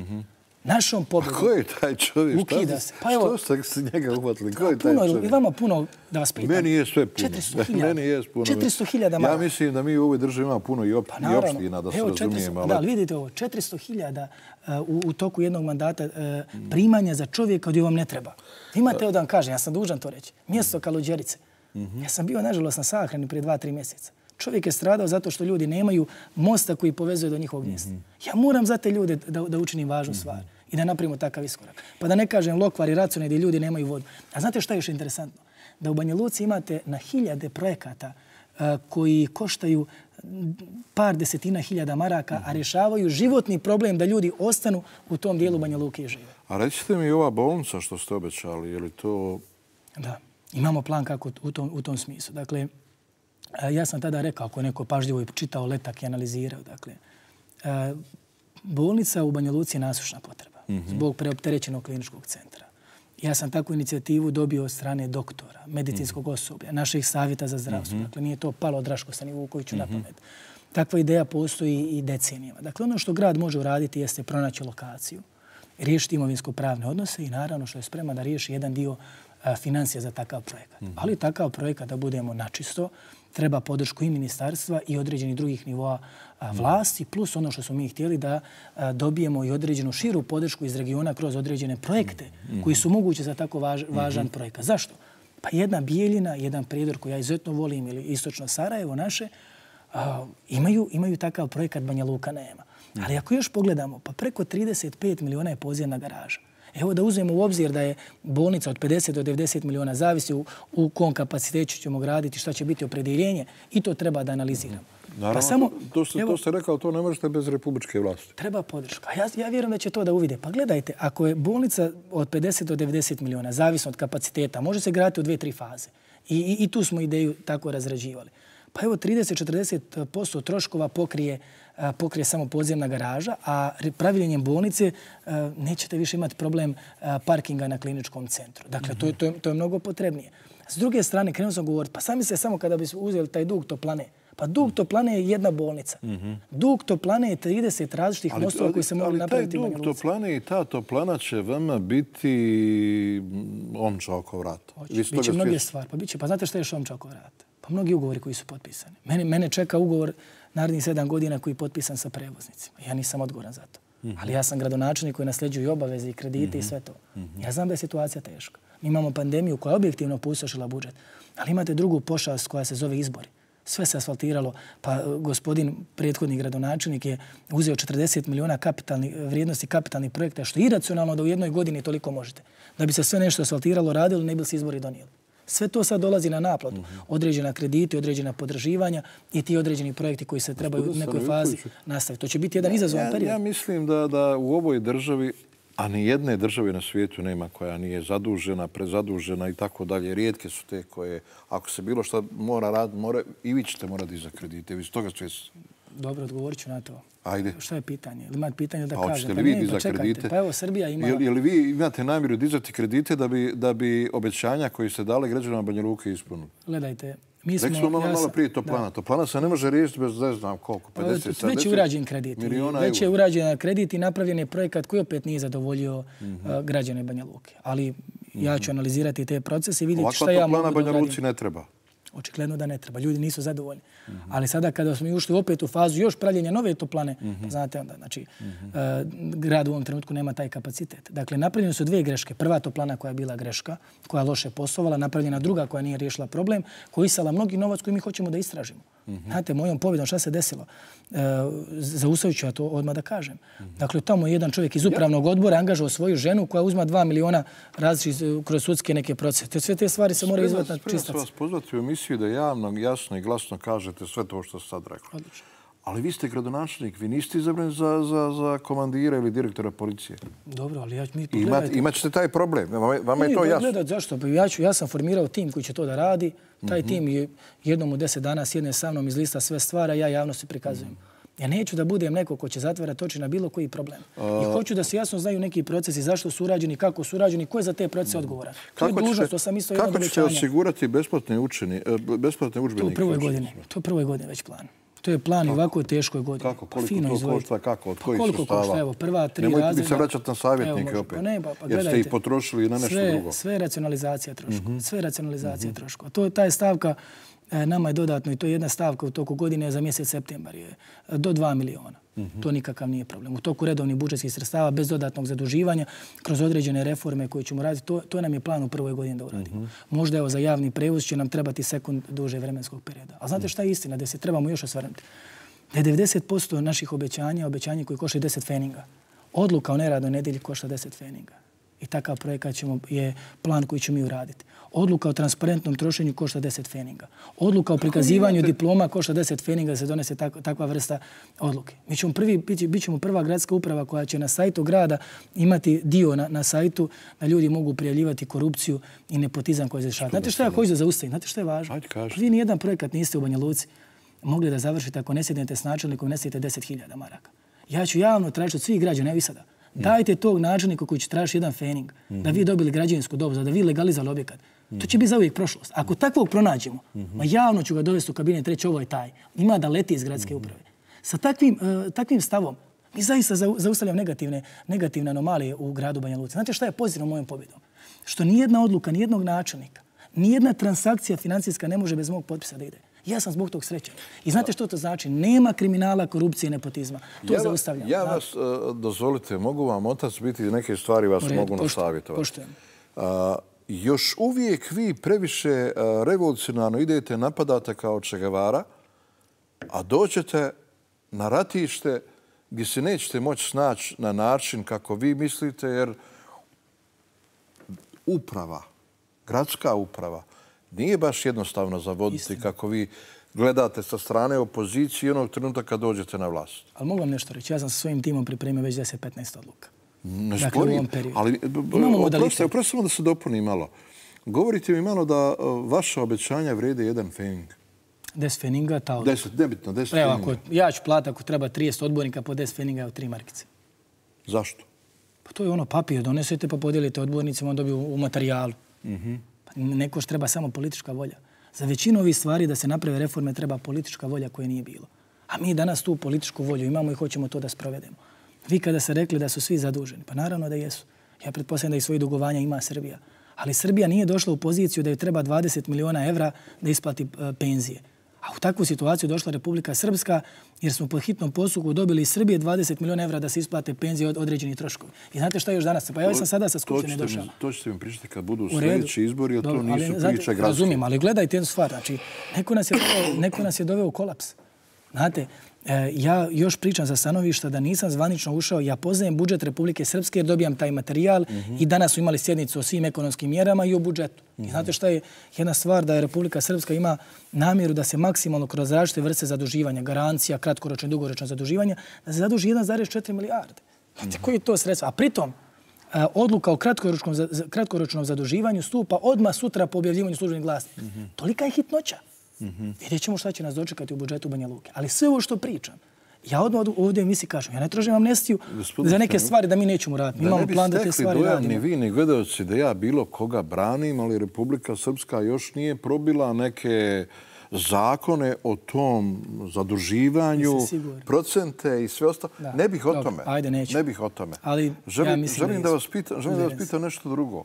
Speaker 2: Našom pobjedom.
Speaker 1: Ko je taj čovjek?
Speaker 2: Ukida se.
Speaker 1: Što ste se njega uhvatili? Ko je taj čovjek?
Speaker 2: I vama puno da vas pitam.
Speaker 1: Meni je sve puno.
Speaker 2: 400.000 maraka.
Speaker 1: Ja mislim da mi u ovoj državi imamo puno i opština, da se razumijemo.
Speaker 2: Da, ali vidite ovo, 400.000 u toku jednog mandata primanja za čovjeka gdje vam ne treba. Imate, evo da vam kažem, ja sam dužan to reći, mjesto Kaluđerice. Ja sam bio, nažalost, na sahrani prije 2-3 mjeseca. Čovjek je stradao zato što ljudi nemaju mosta koji povezuje do njihovog mjesta. Ja moram za te ljude da učinim važnu stvar i da napravimo takav iskorak. Pa da ne kažem Lokvar i Racone gdje ljudi nemaju vodu. A znate što je još interesantno? Da u Banja Luci imate na 1000 projekata koji koštaju par desetina hiljada maraka, a rješavaju životni problem da ljudi ostanu u tom dijelu Banja Luke i žive.
Speaker 1: A recite mi ova bolnica što ste obećali, je li to...
Speaker 2: Da, imamo plan kako u tom smislu. Dakle, ja sam tada rekao, ako je neko pažljivo čitao letak i analizirao, dakle, bolnica u Banja Luci je nasušna potreba zbog preopterećenog kliničkog centra. Ja sam takvu inicijativu dobio od strane doktora, medicinskog osoblja, naših savjeta za zdravstvo. Dakle, nije to palo od Draško Stani Vukoviću na pamet. Takva ideja postoji i decenijama. Dakle, ono što grad može uraditi jeste pronaći lokaciju, riješiti imovinsko-pravne odnose i naravno što je spreman da riješi jedan dio financija za takav projekat. Ali takav projekat, da budemo načisto, treba podršku i ministarstva i određenih drugih nivoa vlasti, plus ono što smo mi htjeli da dobijemo i određenu širu podršku iz regiona kroz određene projekte koji su mogući za tako važan projekat. Zašto? Pa jedna Bijeljina, jedan Prijedor koji ja izuzetno volim ili istočno Sarajevo naše, imaju takav projekat, Banja Luka nema. Ali ako još pogledamo, pa preko 35 miliona je podzemna garaža. Evo da uzmemo u obzir da je bolnica od 50 do 90 miliona, zavisi u kom kapacitetu ćemo graditi, šta će biti opredjeljenje i to treba da analiziramo.
Speaker 1: Naravno, to ste rekao, to ne možete bez republičke vlasti.
Speaker 2: Treba podrška. Ja vjerujem da će to da uvide. Pa gledajte, ako je bolnica od 50 do 90 miliona, zavisno od kapaciteta, može se graditi u 2-3 faze. I tu smo ideju tako razrađivali. Pa evo 30-40% troškova pokrije samo podzemna garaža, a praviljenjem bolnice nećete više imati problem parkinga na kliničkom centru. Dakle, to je mnogo potrebnije. S druge strane, krenuo sam govoriti, pa sami se samo kada bi uzeli taj dug toplane, pa dug toplane je jedna bolnica. Dug toplane je 30 različitih mostova koji se mogu napraviti u Banja Luci.
Speaker 1: Ali taj dug toplane i ta toplana će vama biti omča oko vrata.
Speaker 2: Biće mnoge stvari. Pa znate što je još omča oko vrata? Pa mnogi ugovori koji su potpisani. Mene čeka ugovor narednih 7 godina koji je potpisan sa prevoznicima. Ja nisam odgovoran za to. Ali ja sam gradonačelnik koji nasljeđuje i obaveze i kredite i sve to. Ja znam da je situacija teška. Mi imamo pandemiju koja je objektivno pustošila budžet. Ali imate drugu pošast koja se zove izbori. Sve se asfaltiralo. Pa gospodin prethodni gradonačelnik je uzeo 40 miliona vrijednosti kapitalnih projekta, što je iracionalno da u jednoj godini toliko možete. Da bi se sve nešto asfaltiralo, radilo, ne bi se izbori donijeli. Sve to sad dolazi na naplatu. Određena krediti, određena podraživanja i ti određeni projekti koji se trebaju u nekoj fazi nastaviti. To će biti jedan izazovan period.
Speaker 1: Ja mislim da u ovoj državi, a ni jedne države na svijetu nema koja nije zadužena, prezadužena i tako dalje. Rijetke su te koje, ako se bilo što mora raditi, i vi ćete morati za kredite. Vi ste toga svjesni.
Speaker 2: Dobro, odgovorit ću na to.
Speaker 1: Ajde.
Speaker 2: Šta je pitanje? Ili imate pitanje da kažem?
Speaker 1: Hoćete li vi dizati kredite?
Speaker 2: Pa evo, Srbija ima...
Speaker 1: Je li vi imate namjeru dizati kredite da bi obećanja koji ste dali građanima Banja Luke ispunili?
Speaker 2: Gledajte,
Speaker 1: rekli smo malo prije Toplana. Toplana se ne može riješiti bez ne znam koliko, 50,
Speaker 2: već je urađen kredit. Već je urađen kredit i napravljen je projekat koji opet nije zadovoljio građane Banja Luke. Ali ja ću analizirati te procese i vidjeti šta ja mogu da uradim.
Speaker 1: Ovakva Toplana Banja Luci ne treba.
Speaker 2: Očigledno da ne treba. Ljudi nisu zadovoljni. Ali sada kada smo ušli opet u fazu još pravljenja nove toplane, znate onda, znači, grad u ovom trenutku nema taj kapacitet. Dakle, napravljene su dvije greške. Prva toplana koja je bila greška, koja loše poslovala, napravljena druga koja nije riješila problem, koja isala mnogi novac koji mi hoćemo da istražimo. Znate, mojom pobjedom šta se desilo? Zaustavit ću ja to odmah da kažem. Dakle, tamo je jedan čovjek iz upravnog odbora angažao svoju ženu koja uzma 2 miliona različitih kroz sudske neke procese. Sve te stvari se moraju izvati na čistac.
Speaker 1: Spremam vas pozvati u emisiju da javno, jasno i glasno kažete sve to što ste sad rekli.
Speaker 2: Odlično.
Speaker 1: Ali vi ste gradonačelnik, vi niste izabrani za komandira ili direktora policije.
Speaker 2: Dobro, ali
Speaker 1: imat ćete taj problem. Vama je to jasno.
Speaker 2: Gledat, zašto? Ja sam formirao tim koji će to da radi. Taj tim je jednom u 10 dana sjedne sa mnom iz lista sve stvara, ja javnosti prikazujem. Ja neću da budem neko ko će zatvarati oči na bilo koji problem. I hoću da se jasno znaju neki procesi, zašto su urađeni, kako su urađeni, ko je za te procese odgovoran. To je dužnost, to sam isto jedno obećanje.
Speaker 1: Kako ćete osigurati besplatne udžbenike?
Speaker 2: To je prvoj godine već plan. To je plan i ovako teškoj godini.
Speaker 1: Kako? Koliko to košta? Kako? Od kojih sredstava?
Speaker 2: Koliko košta? Evo, prva 3 razreda.
Speaker 1: Nemojte mi se vraćati na savjetnike opet. Jer ste ih potrošili na nešto drugo.
Speaker 2: Sve racionalizacija troškova. Sve racionalizacija troškova. Ta je stavka nama je dodatno i to je jedna stavka u toku godine za mjesec septembar je do 2 miliona. To nikakav nije problem. U toku redovnih budžetskih sredstava bez dodatnog zaduživanja kroz određene reforme koje ćemo raditi, to nam je plan u prvoj godini da uradimo. Možda evo za javni prevoz će nam trebati sekund duže vremenskog perioda. A znate šta je istina? Da se trebamo još osvrnuti. Da je 90% naših obećanja koji košta 10 feninga. Odluka o neradnoj nedjelji košta 10 feninga. I takav projekat je plan koji ćemo mi uraditi. Odluka o transparentnom trošenju košta 10 feninga. Odluka o prikazivanju diploma košta 10 feninga da se donese takva vrsta odluke. Bit ćemo prva gradska uprava koja će na sajtu grada imati dio na sajtu da ljudi mogu prijavljivati korupciju i nepotizam koji se dešava. Znate šta ja hoću da zaustavim? Znate šta je važno? Vi nijedan projekat niste u Banja Luci mogli da završite ako ne sjednete s načelnikom i ne sjedete 10.000 maraka. Ja ću javno tražiti od svih građana, evo i sada. Dajte tog načelnika koji će tražiti jedan fening, da vi dobili građevinsku dozvolu, da vi legalizali objekat. To će biti za uvijek prošlost. Ako takvog pronađemo, javno ću ga dovesti u kabinet reći ovo je taj. Ima da leti iz gradske uprave. Sa takvim stavom mi zaista zaustavljamo negativne anomalije u gradu Banja Luci. Znate šta je pozitivno mojom pobjedom? Što nijedna odluka, nijednog načelnika, nijedna transakcija financijska ne može bez mog potpisa da ide. Ja sam zbog tog srećan. I znate što to znači? Nema kriminala, korupcije i nepotizma. To zaustavljam.
Speaker 1: Ja vas, dozvolite, mogu vam otac biti neke stvari vas mogu nasavjetovati.
Speaker 2: Poštujem.
Speaker 1: Još uvijek vi previše revolucionarno idete, napadate kao Che Guevara, a dođete na ratište gdje se nećete moći snaći na način kako vi mislite, jer uprava, gradska uprava, nije baš jednostavno zavoditi kako vi gledate sa strane opozicije onog trenutka kad dođete na vlast.
Speaker 2: Ali mogu vam nešto reći. Ja sam sa svojim timom pripremio već 10-15 odluka.
Speaker 1: Ne sporim, ali oprosti da se dopuni malo. Govorite mi malo da vaša obećanja vrede 1 fening.
Speaker 2: 10 feninga, ta
Speaker 1: odluka. 10, nebitno, 10 feninga.
Speaker 2: Ja ću plati ako treba 30 odbornika po 10 feninga u 3 markice.
Speaker 1: Zašto?
Speaker 2: Pa to je ono papir. Donesete pa podijelite odbornicima, on dobiju u materijalu. Nekoš treba samo politička volja. Za većinu ovih stvari da se naprave reforme treba politička volja koje nije bilo. A mi danas tu političku volju imamo i hoćemo to da sprovedemo. Vi kada ste rekli da su svi zaduženi, pa naravno da jesu. Ja pretpostavljam da i svoje dugovanja ima Srbija. Ali Srbija nije došla u poziciju da joj treba 20 miliona evra da isplati penzije. A u takvu situaciju došla Republika Srpska jer smo po hitnom postupku dobili iz Srbije 20 miliona evra da se isplate penzije od određenih troškova. I znate šta je još danas? Pa ja sam sada sa Skupštine došao.
Speaker 1: To ćete mi pričati kad budu sljedeći izbori, jer to nisu priče gradske.
Speaker 2: Razumijem, ali gledajte jednu stvar. Znači, neko nas je doveo u kolaps. Znate, ja još pričam sa stanovišta da nisam zvanično ušao. Ja poznajem budžet Republike Srpske jer dobijam taj materijal i danas su imali sjednicu o svim ekonomskim mjerama i o budžetu. I znate šta je jedna stvar da je Republika Srpska ima namjeru da se maksimalno kroz različite vrste zaduživanja, garancija, kratkoročno i dugoročno zaduživanja, da se zaduži 1,4 milijarde. Znate, koji je to sredstvo? A pritom, odluka o kratkoročnom zaduživanju stupa odmah sutra po objavljivanju službenih glasnika. Tolika je hitnoća. Vidjet ćemo šta će nas dočekati u budžetu Banja Luke. Ali sve ovo što pričam, ja odmah ovdje u emisiji kažem, ja ne tražim amnestiju za neke stvari da mi nećemo raditi. Imamo plan da te stvari radimo.
Speaker 1: Ni vi, ni gledalci da ja bilo koga branim, ali Republika Srpska još nije probila neke zakone o tom zaduživanju, procente i sve ostalo. Ne bih o tome.
Speaker 2: Ajde, neću.
Speaker 1: Ne bih o tome.
Speaker 2: Ali ja mislim
Speaker 1: želim da vas pitam nešto drugo.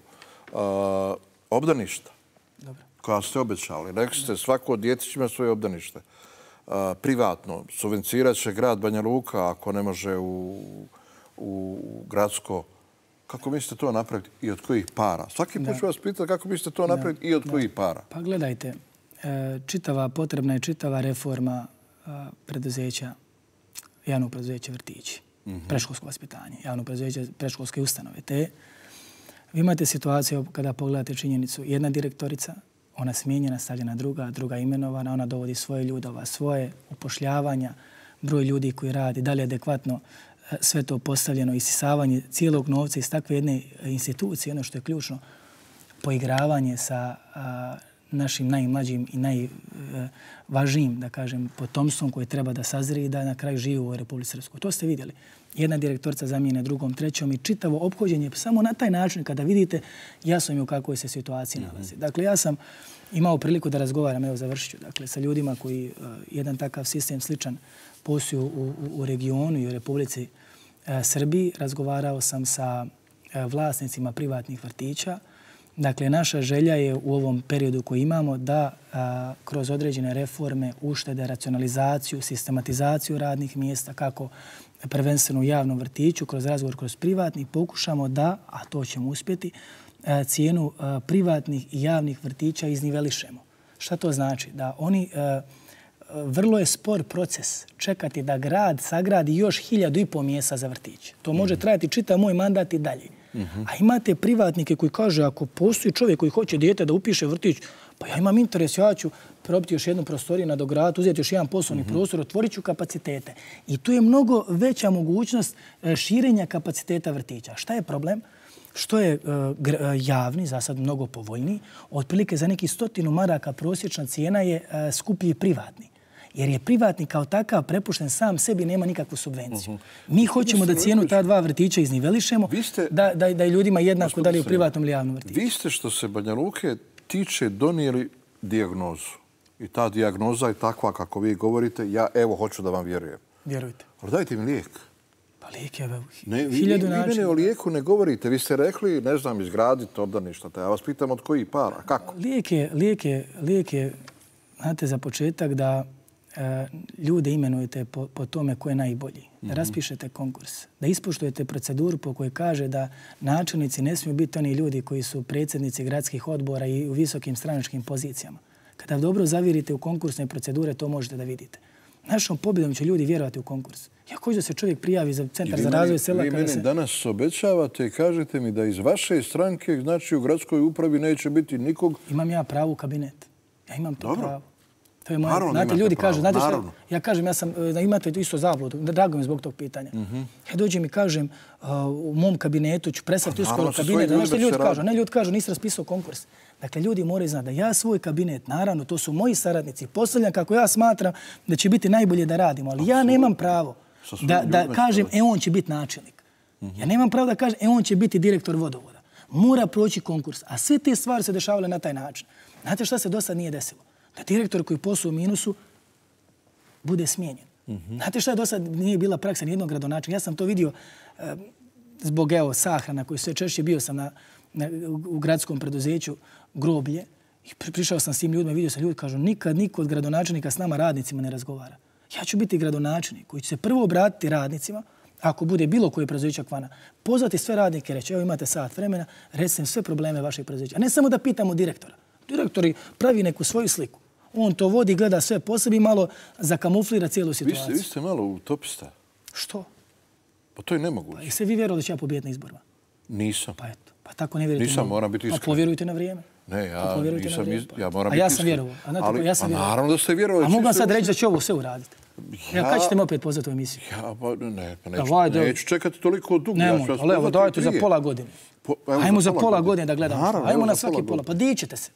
Speaker 1: Obdaništa koja ste obećali. Rekli ste, svako dijete će ima svoje obdanište. Privatno. Subvencirat će grad Banja Luka ako ne može u gradsko. Kako mislite to napraviti i od kojih para? Svaki put ću vas pitati kako mislite to napraviti i od kojih para.
Speaker 2: Pa gledajte, potrebna je čitava reforma preduzeća, javnog preduzeća vrtići, predškolsko vaspitanje, javno preduzeće predškolske ustanove. Te vi imate situaciju kada pogledate činjenicu, jedna direktorica, ona smijenjena, stavljena druga imenovana, ona dovodi svoje ljude, svoje upošljavanja, broj ljudi koji radi, da li je adekvatno sve to postavljeno, isisavanje cijelog novca iz takve jedne institucije, ono što je ključno, poigravanje sa našim najmlađim i najvažnijim, da kažem, potomstvom koje treba da sazri i da na kraju živi u Republici Srpskoj. To ste vidjeli. Jedna direktorica zamijene drugom, trećom i čitavo ophođenje. Samo na taj način, kada vidite, jasno mi u kakvoj se situaciji nalazi. Dakle, ja sam imao priliku da razgovaram, evo završit ću, dakle, sa ljudima koji jedan takav sistem sličan posluju u regionu i u Republici Srbiji. Razgovarao sam sa vlasnicima privatnih vrtića. Dakle, naša želja je u ovom periodu koji imamo da kroz određene reforme, uštede, racionalizaciju, sistematizaciju radnih mjesta, kako prvenstveno u javnom vrtiću, kroz razgovor, kroz privatnih, pokušamo da, a to ćemo uspjeti, cijenu privatnih i javnih vrtića iznivelišemo. Šta to znači? Da oni, vrlo je spor proces čekati da grad sagradi još 1.500 mjesta za vrtić. To može trajati čitav moj mandat i dalje. A imate privatnike koji kaže ako postoji čovjek koji hoće dijete da upiše vrtić, pa ja imam interes, ja ću probiti još jednu prostoriju na dograditi, uzeti još jedan poslovni prostor, otvorit ću kapacitete. I tu je mnogo veća mogućnost širenja kapaciteta vrtića. Šta je problem? Što je javni, za sad mnogo povoljniji, otprilike za neki 100 maraka prosječna cijena je skuplji privatni. Jer je privatnik kao takav prepušten sam sebi, nema nikakvu subvenciju. Mi hoćemo da cijenu ta dva vrtića iznivelišemo, da je ljudima jednako da li u privatnom ili javnom vrtiću.
Speaker 1: Vi ste, što se Banja Luke tiče, donijeli dijagnozu. I ta dijagnoza je takva kako vi govorite. Ja evo hoću da vam vjerujem.
Speaker 2: Vjerujte.
Speaker 1: Ali dajte mi lijek.
Speaker 2: Pa lijek je 1000 načina.
Speaker 1: Vi mene o lijeku ne govorite. Vi ste rekli, ne znam, izgraditi obdaništa. Ja vas pitam od kojih para. Kako?
Speaker 2: Lijek je, znate, za početak da ljude imenujete po tome ko je najbolji. Da raspišete konkurs. Da ispoštujete proceduru po kojoj kaže da načelnici ne smiju biti oni ljudi koji su predsjednici gradskih odbora i u visokim stranačkim pozicijama. Kada dobro zavirite u konkursne procedure, to možete da vidite. Našom pobjedom će ljudi vjerovati u konkurs. Ja hoću da se čovjek prijavi za Centar za razvoj sela.
Speaker 1: Vi mene danas obećavate i kažete mi da iz vaše stranke, znači u gradskoj upravi, neće biti nikog.
Speaker 2: Imam ja pravo u kabinet. Ja imam to pravo. To je moje. Znate, ljudi kažu, znate što? Ja kažem, da imate isto zabludu. Drago mi zbog tog pitanja. Ja dođem i kažem, u mom kabinetu ću predstaviti uskoro kabinet. Znaš što ljudi kažu? Ne, ljudi kažu, nisi raspisao konkurs. Dakle, ljudi moraju znati da ja svoj kabinet, naravno, to su moji saradnici, postavljam kako ja smatram da će biti najbolje da radimo. Ali ja nemam pravo da kažem, on će biti načelnik. Ja nemam pravo da kažem, on će biti direktor vodovoda. Mora proći konkurs. A sve te stvari se dešavale na taj način. Znate šta se do sad nije desilo? Da direktor koji posluje u minusu bude smijenjen. Znate šta je do sad nije bila praksa nijednog gradonačelnika? Ja sam to vidio zbog sahrana koji sve češće bio sam u gradskom preduzeću Groblje I prišao sam s tim ljudima i vidio sam ljudi, kažu, nikad niko od gradonačelnika s nama radnicima ne razgovara. Ja ću biti gradonačelnik koji će se prvo obratiti radnicima, ako bude bilo koje preduzeća Kvana, pozvati sve radnike i reći, evo imate sat vremena, recite sve probleme vašeg preduzeća. A ne samo da pitamo direktora. Direktori pravi neku svoju sliku. On to vodi, gleda sve po sebi i malo zakamuflira cijelu situaciju.
Speaker 1: Vi ste malo utopista.
Speaker 2: Što?
Speaker 1: Pa to je nemoguće.
Speaker 2: Pa jeste vi vjerovali da ću ja pobijediti na izborima?
Speaker 1: Nisam.
Speaker 2: Pa eto. Pa tako ne vjerujete.
Speaker 1: Nisam, moram biti iskren.
Speaker 2: Pa povjerujte na vrijeme.
Speaker 1: Ne, ja nisam, ja moram biti iskren.
Speaker 2: A ja sam vjerovao. Ja sam vjerovao.
Speaker 1: Naravno da ste vjerovali.
Speaker 2: A mogu vam sad reći da ću ovo sve uraditi. Ja, kad ćete me opet pozvati u emisiju?
Speaker 1: Ja, pa neću čekati toliko dugo.
Speaker 2: Nemoj, ali evo, dajte za pola godine. Ajmo za pola godine da gledamo. Ajmo na svaki pola. Pa dićete se.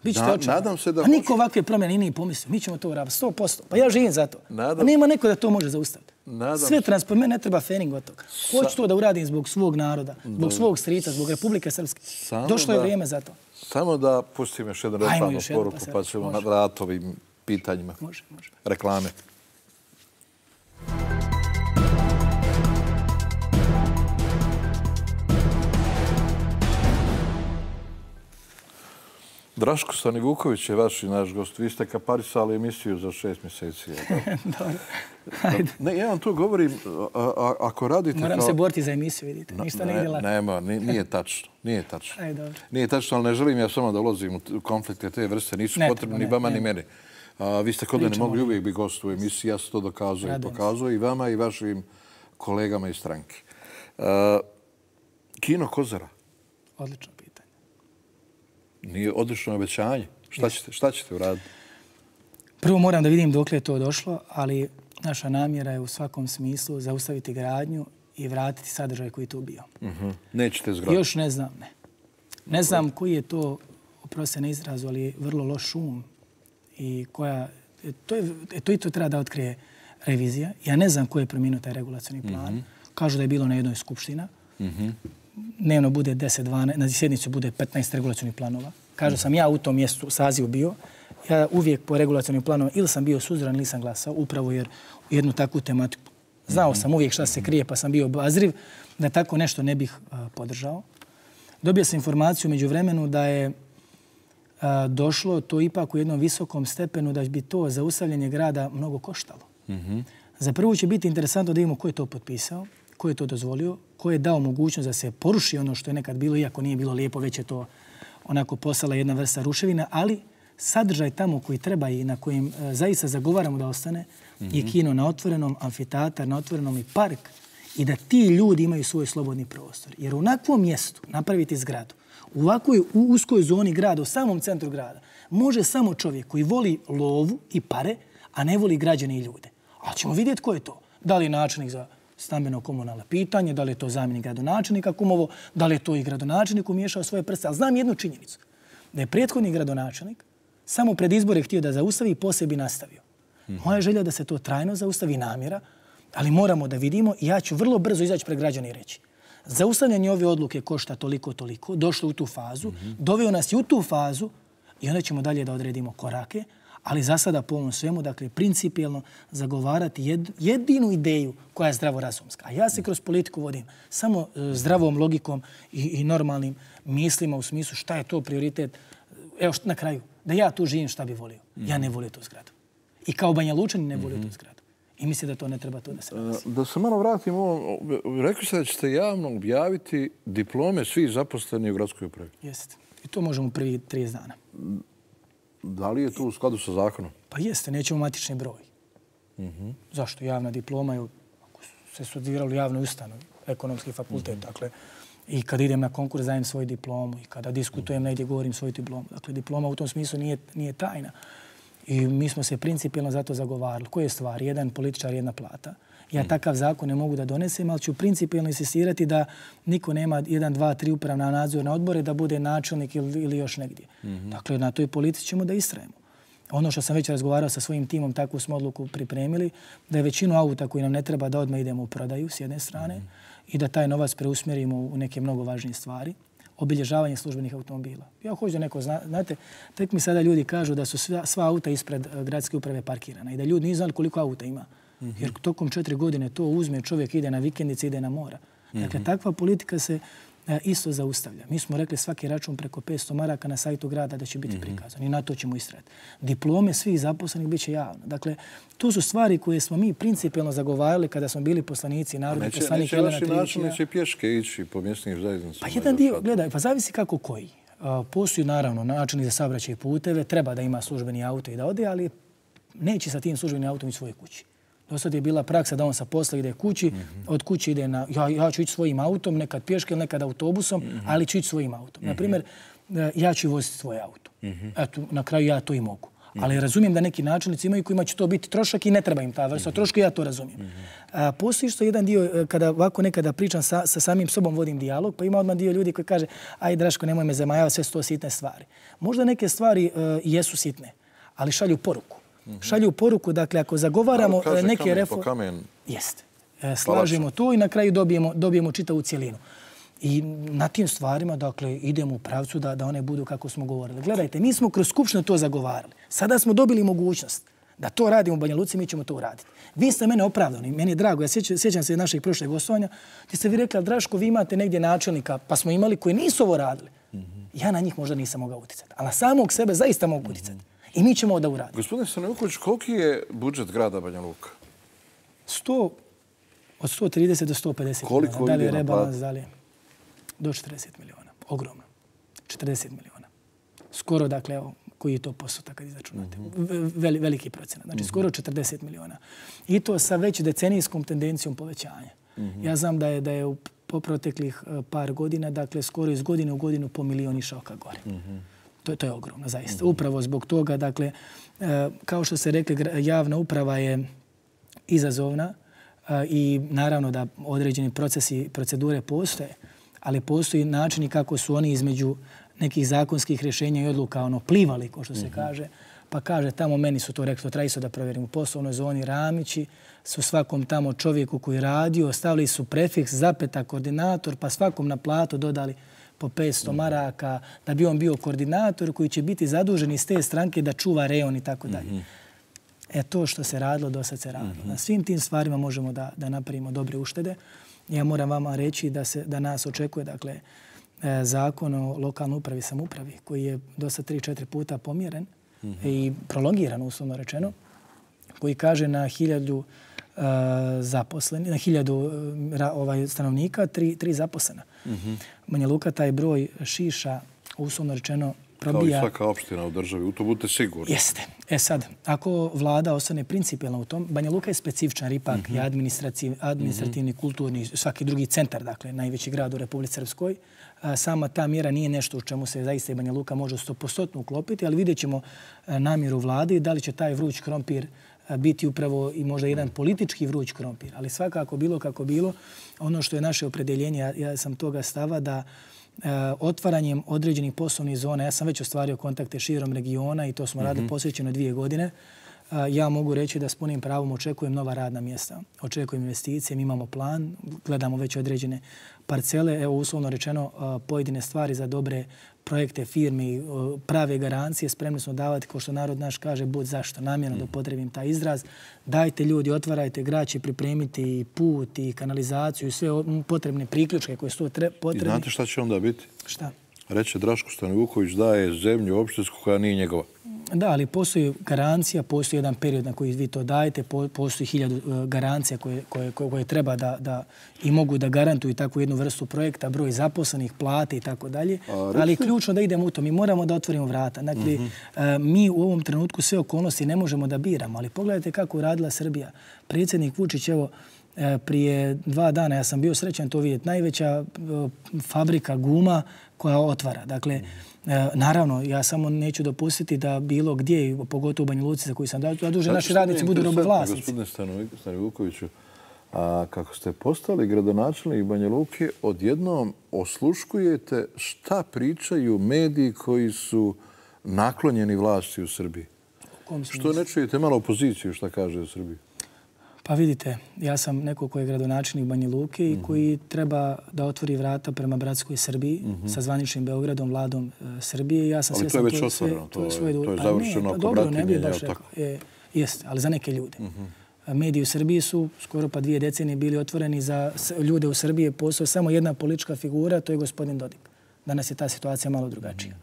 Speaker 2: Bićete očekani.
Speaker 1: Nadam se da...
Speaker 2: A niko ovakve promjene nije pomislio. Mi ćemo to uraditi 100%. Pa ja živim za to. A nema neko da to može zaustaviti. Sve transforme, ne treba fening od toga. Hoću to da uradim zbog svog naroda, zbog svog strica, zbog Republike Srpske. Došlo je vrijeme za to.
Speaker 1: Samo da pustim još jednu reklamnu poruku, pa ćemo na ratovim pitanjima.
Speaker 2: Može.
Speaker 1: Reklame. Draško Stanivuković je vaš i naš gost. Vi ste kaparisali emisiju za 6 mjeseci.
Speaker 2: Dobro. Ajde.
Speaker 1: Ne, ja vam to govorim, ako radite...
Speaker 2: Moram se boriti za emisiju, vidite. Ništa ne ide lako.
Speaker 1: Nema, nije tačno. Nije tačno.
Speaker 2: Ajde, dobro.
Speaker 1: Nije tačno, ali ne želim ja samo da ulazim u konflikte te vrste. Nisu potrebni ni vama ni mene. Vi ste kod mene mogli uvijek biti gost u emisiji. Ja sam to dokazao i pokazao i vama i vašim kolegama iz stranke. Kino Kozara.
Speaker 2: Odlično pitanje.
Speaker 1: Nije odlično obećanje. Šta ćete uraditi?
Speaker 2: Prvo moram da vidim dokle je to došlo, ali naša namjera je u svakom smislu zaustaviti gradnju i vratiti sadržaj koji je tu bio.
Speaker 1: Nećete zgraditi?
Speaker 2: Još ne znam, ne. Ne znam koji je to, oprosti na izrazu, ali vrlo loš šum i koja... To i to treba da otkrije revizija. Ja ne znam ko je promijenio taj regulacioni plan. Kažu da je bilo na jednoj skupština. Dnevno bude 10-12, na sjednicu bude 15 regulacionih planova. Kažu sam ja u tom mjestu sazivu bio. Ja uvijek po regulacionim planovima ili sam bio suzdržan ili sam glasao, upravo jer u jednu takvu tematiku. Znao sam uvijek šta se krije, pa sam bio obazriv da tako nešto ne bih podržao. Dobio sam informaciju među vremenu da je došlo to ipak u jednom visokom stepenu da bi to zaustavljanje grada mnogo koštalo. Za prvo će biti interesantno da vidimo ko je to potpisao, ko je to dozvolio, ko je dao mogućnost da se poruši ono što je nekad bilo, iako nije bilo lijepo, već je to onako postala jedna vrsta ruševina, ali sadržaj tamo koji treba i na kojim zaista zagovaramo da ostane je kino na otvorenom, amfiteatar na otvorenom i park i da ti ljudi imaju svoj slobodni prostor. Jer u onakvom mjestu napraviti zgradu, u ovakvoj uskoj zoni grada, u samom centru grada, može samo čovjek koji voli lovu i pare, a ne voli građane i ljude. Ali ćemo vidjeti ko je to. Da li je načelnik za stambeno-komunalno pitanje, da li je to zamjenik gradonačelnika Kumovo, da li je to i gradonačelnik umiješao svoje prste. Ali znam jednu činjenicu, da je prethodni gradonačelnik samo pred izbore htio da zaustavi i posebi nastavio. Moja želja da se to trajno zaustavi, namjera, ali moramo da vidimo i ja ću vrlo brzo izaći pred građane i reći. Zaustavljanje ove odluke košta toliko, došlo u tu fazu, doveo nas i u tu fazu i onda ćemo dalje da odredimo korake, ali za sada po ovom svemu, dakle, principijelno zagovarati jedinu ideju koja je zdravorazumska. A ja se kroz politiku vodim samo zdravom logikom i normalnim mislima u smislu šta je to prioritet. Evo na kraju, da ja tu živim šta bi volio. Ja ne volim tu zgradu. I kao Banja Lučani ne volim tu zgradu. I mislim da to ne treba to da se nalazi.
Speaker 1: Da se malo vratim ovo, rekli ste da ćete javno objaviti diplome svih zaposlenih u gradskoj upravi.
Speaker 2: Jeste. I to možemo prvi 30 dana.
Speaker 1: Da li je to u skladu sa zakonom?
Speaker 2: Pa jeste, nećemo matični broj. Zašto? Javna diploma je, ako se studiralo u javnoj ustanovi, ekonomski fakultet, dakle, i kad idem na konkurs dajem svoju diplomu i kada diskutujem negdje govorim svoju diplomu. Dakle, diploma u tom smislu nije tajna. I mi smo se principijelno zato zagovarali. Koje stvari? Jedan političar, jedna plata. Ja takav zakon ne mogu da donesem, ali ću principijelno insistirati da niko nema 1, 2, 3 upravna nadzorna odbore da bude načelnik ili još negdje. Dakle, na toj politici ćemo da istrajemo. Ono što sam već razgovarao sa svojim timom, takvu smo odluku pripremili, da je većinu auta koji nam ne treba da odmah idemo u prodaju s jedne strane i da taj novac preusmjerimo u neke mnogo važnije stvari. Obilježavanje službenih automobila. Ja hoću da neko zna, znate, tek mi sada ljudi kažu da su sva auta ispred gradske uprave parkirana i da ljudi nisu znali koliko auta ima. Jer tokom 4 godine to uzme, čovjek ide na vikendice, ide na mora. Dakle, takva politika se isto zaustavlja. Mi smo rekli svaki račun preko 500 maraka na sajtu grada da će biti prikazan i na to ćemo istrajati. Diplome svih zaposlenih bit će javno. Dakle, to su stvari koje smo mi principijelno zagovarali kada smo bili poslanici, narodni poslanik Jelena Trivić.
Speaker 1: Neće vaši načelnici pješke ići po mjesnim zajednicama?
Speaker 2: Pa jedan dio, gledaj, pa zavisi kako koji. Postoji naravno načelnik za saobraćaj i puteve, treba da ima službeni auto i da ode, ali neće sa tim službenim autom ići svoje kući. Do sad je bila praksa da on sa posla ide kući, od kuće ide na... Ja ću ići svojim autom, nekad pješke ili nekad autobusom, ali ću ići svojim autom. Naprimjer, ja ću voziti svoj auto. Eto, na kraju ja to i mogu. Ali razumijem da neki načelnici imaju kojima će to biti trošak i ne treba im ta vrsta troška, ja to razumijem. Postoji što jedan dio, kada ovako nekada pričam sa samim sobom, vodim dijalog, pa ima odmah dio ljudi koji kaže aj Draško, nemoj me zamajavati, sve su to sitne stvari. Možda neke stvari jesu sitne, ali šalju poruku. Šalju poruku, dakle, ako zagovaramo neke reforme... Jeste. Slažemo to i na kraju dobijemo čitavu cijelinu. I na tim stvarima, dakle, idemo u pravcu da one budu kako smo govorili. Gledajte, mi smo kroz Skupštinu to zagovarali. Sada smo dobili mogućnost da to radimo u Banja Luci, mi ćemo to uraditi. Vi ste mene opravdani, meni je drago. Ja sjećam se našeg prošlog gostovanja, gdje ste vi rekli, Draško, vi imate negdje načelnika, pa smo imali koji nisu ovo radili. Ja na njih možda nisam mogao utjecati, ali na samog sebe zaista mogu utjecati. I mi ćemo da uradimo.
Speaker 1: Gospodine Stanovuković, koliki je budžet grada Banja Luka?
Speaker 2: Od 130 do 150 milijuna. Da li je rebalans, da li je do 40 milijuna. Ogromno. 40 milijuna. Skoro, dakle, evo, koji je to postotak kad izračunate? Veliki procenat. Znači, skoro 40 milijuna. I to sa već decenijskom tendencijom povećanja. Ja znam da je po proteklih par godina, dakle, skoro iz godine u godinu po milion išao ka gore. To je ogromno, zaista. Upravo zbog toga, dakle, kao što se rekli, javna uprava je izazovna i naravno da određeni procesi, procedure postoje, ali postoji načini kako su oni između nekih zakonskih rješenja i odluka plivali, ko što se kaže. Pa kaže, tamo meni su to rekli, to treba isto da provjerim, u poslovnoj zoni Ramići su svakom tamo čovjeku koji radio, stavili su prefiks, zapeta, koordinator, pa svakom na platu dodali po 500 maraka, da bi on bio koordinator koji će biti zadužen iz te stranke da čuva rejon i tako dalje. To što se radilo, do sad se radilo. Na svim tim stvarima možemo da napravimo dobre uštede. Ja moram vama reći da nas očekuje, dakle, zakon o lokalnoj upravi i samoupravi, koji je do sad 3-4 puta pomjeren i prolongiran, uslovno rečeno, koji kaže na 1000 zaposleni, na 1000 stanovnika, 3 zaposlena. Banja Luka taj broj šiša, uslovno rečeno, probija...
Speaker 1: Kao i svaka opština u državi, u to budete sigurni.
Speaker 2: Jeste. Sad, ako vlada ostane principijelna u tom, Banja Luka je specifičan, jer ipak je administrativni, kulturni, svaki drugi centar, dakle, najveći grad u Republici Srpskoj. Sama ta mjera nije nešto u čemu se zaista i Banja Luka može 100% uklopiti, ali vidjet ćemo namjeru vlade da li će taj vruć krompir biti upravo i možda jedan politički vruć krompir. Ali svakako bilo kako bilo, ono što je naše opredeljenje, ja sam toga stava da otvaranjem određenih poslovnih zona, ja sam već ostvario kontakte širom regiona i to smo radili posvećeno 2 godine, ja mogu reći da s punim pravom očekujem nova radna mjesta, očekujem investicije, mi imamo plan, gledamo već određene parcele, evo uslovno rečeno pojedine stvari za dobre projekte, firme, prave garancije, spremni smo davati, kao što narod naš kaže, bud zašto, namjerno da upotrebim taj izraz. Dajte ljudi, otvarajte, grad će pripremiti i put, i kanalizaciju, i sve potrebne priključke koje su potrebne.
Speaker 1: I znate šta će onda biti?
Speaker 2: Šta?
Speaker 1: Reče Draško Stanovuković daje zemlju opštinsku koja nije njegova.
Speaker 2: Da, ali postoji garancija, postoji jedan period na koji vi to dajete, postoji 1000 garancija koje treba da i mogu da garantuju takvu jednu vrstu projekta, broj zaposlenih, plate i tako dalje. Ali je ključno da idemo u to. Mi moramo da otvorimo vrata. Dakle, mi u ovom trenutku sve okolnosti ne možemo da biramo, ali pogledajte kako radila Srbija. Predsjednik Vučić, evo, prije 2 dana, ja sam bio srećan to vidjeti, najveća fabrika guma koja otvara. Dakle, naravno, ja samo neću dopustiti da bilo gdje, pogotovo u Banja Luci za koju sam zadužen, naši radnici budu robovlasnici.
Speaker 1: Gospodine Stanovukoviću, a kako ste postali gradonačelnik Banja Luke, odjednom osluškujete šta pričaju mediji koji su naklonjeni vlasti u Srbiji. Što ne čujete malo opoziciju šta kaže u Srbiji?
Speaker 2: Pa vidite, ja sam neko koji je gradonačelnik Banja Luke i koji treba da otvori vrata prema bratskoj Srbiji sa zvaničnim Beogradom, vladom Srbije.
Speaker 1: Ali to je već otvoreno, to je završeno oko bratinjenja.
Speaker 2: Dobro, ne bih baš rekao. Jeste, ali za neke ljude. Mediji u Srbiji su skoro pa 2 decenije bili otvoreni za ljude u Srbiji. Postoji samo jedna politička figura, to je gospodin Dodik. Danas je ta situacija malo drugačija.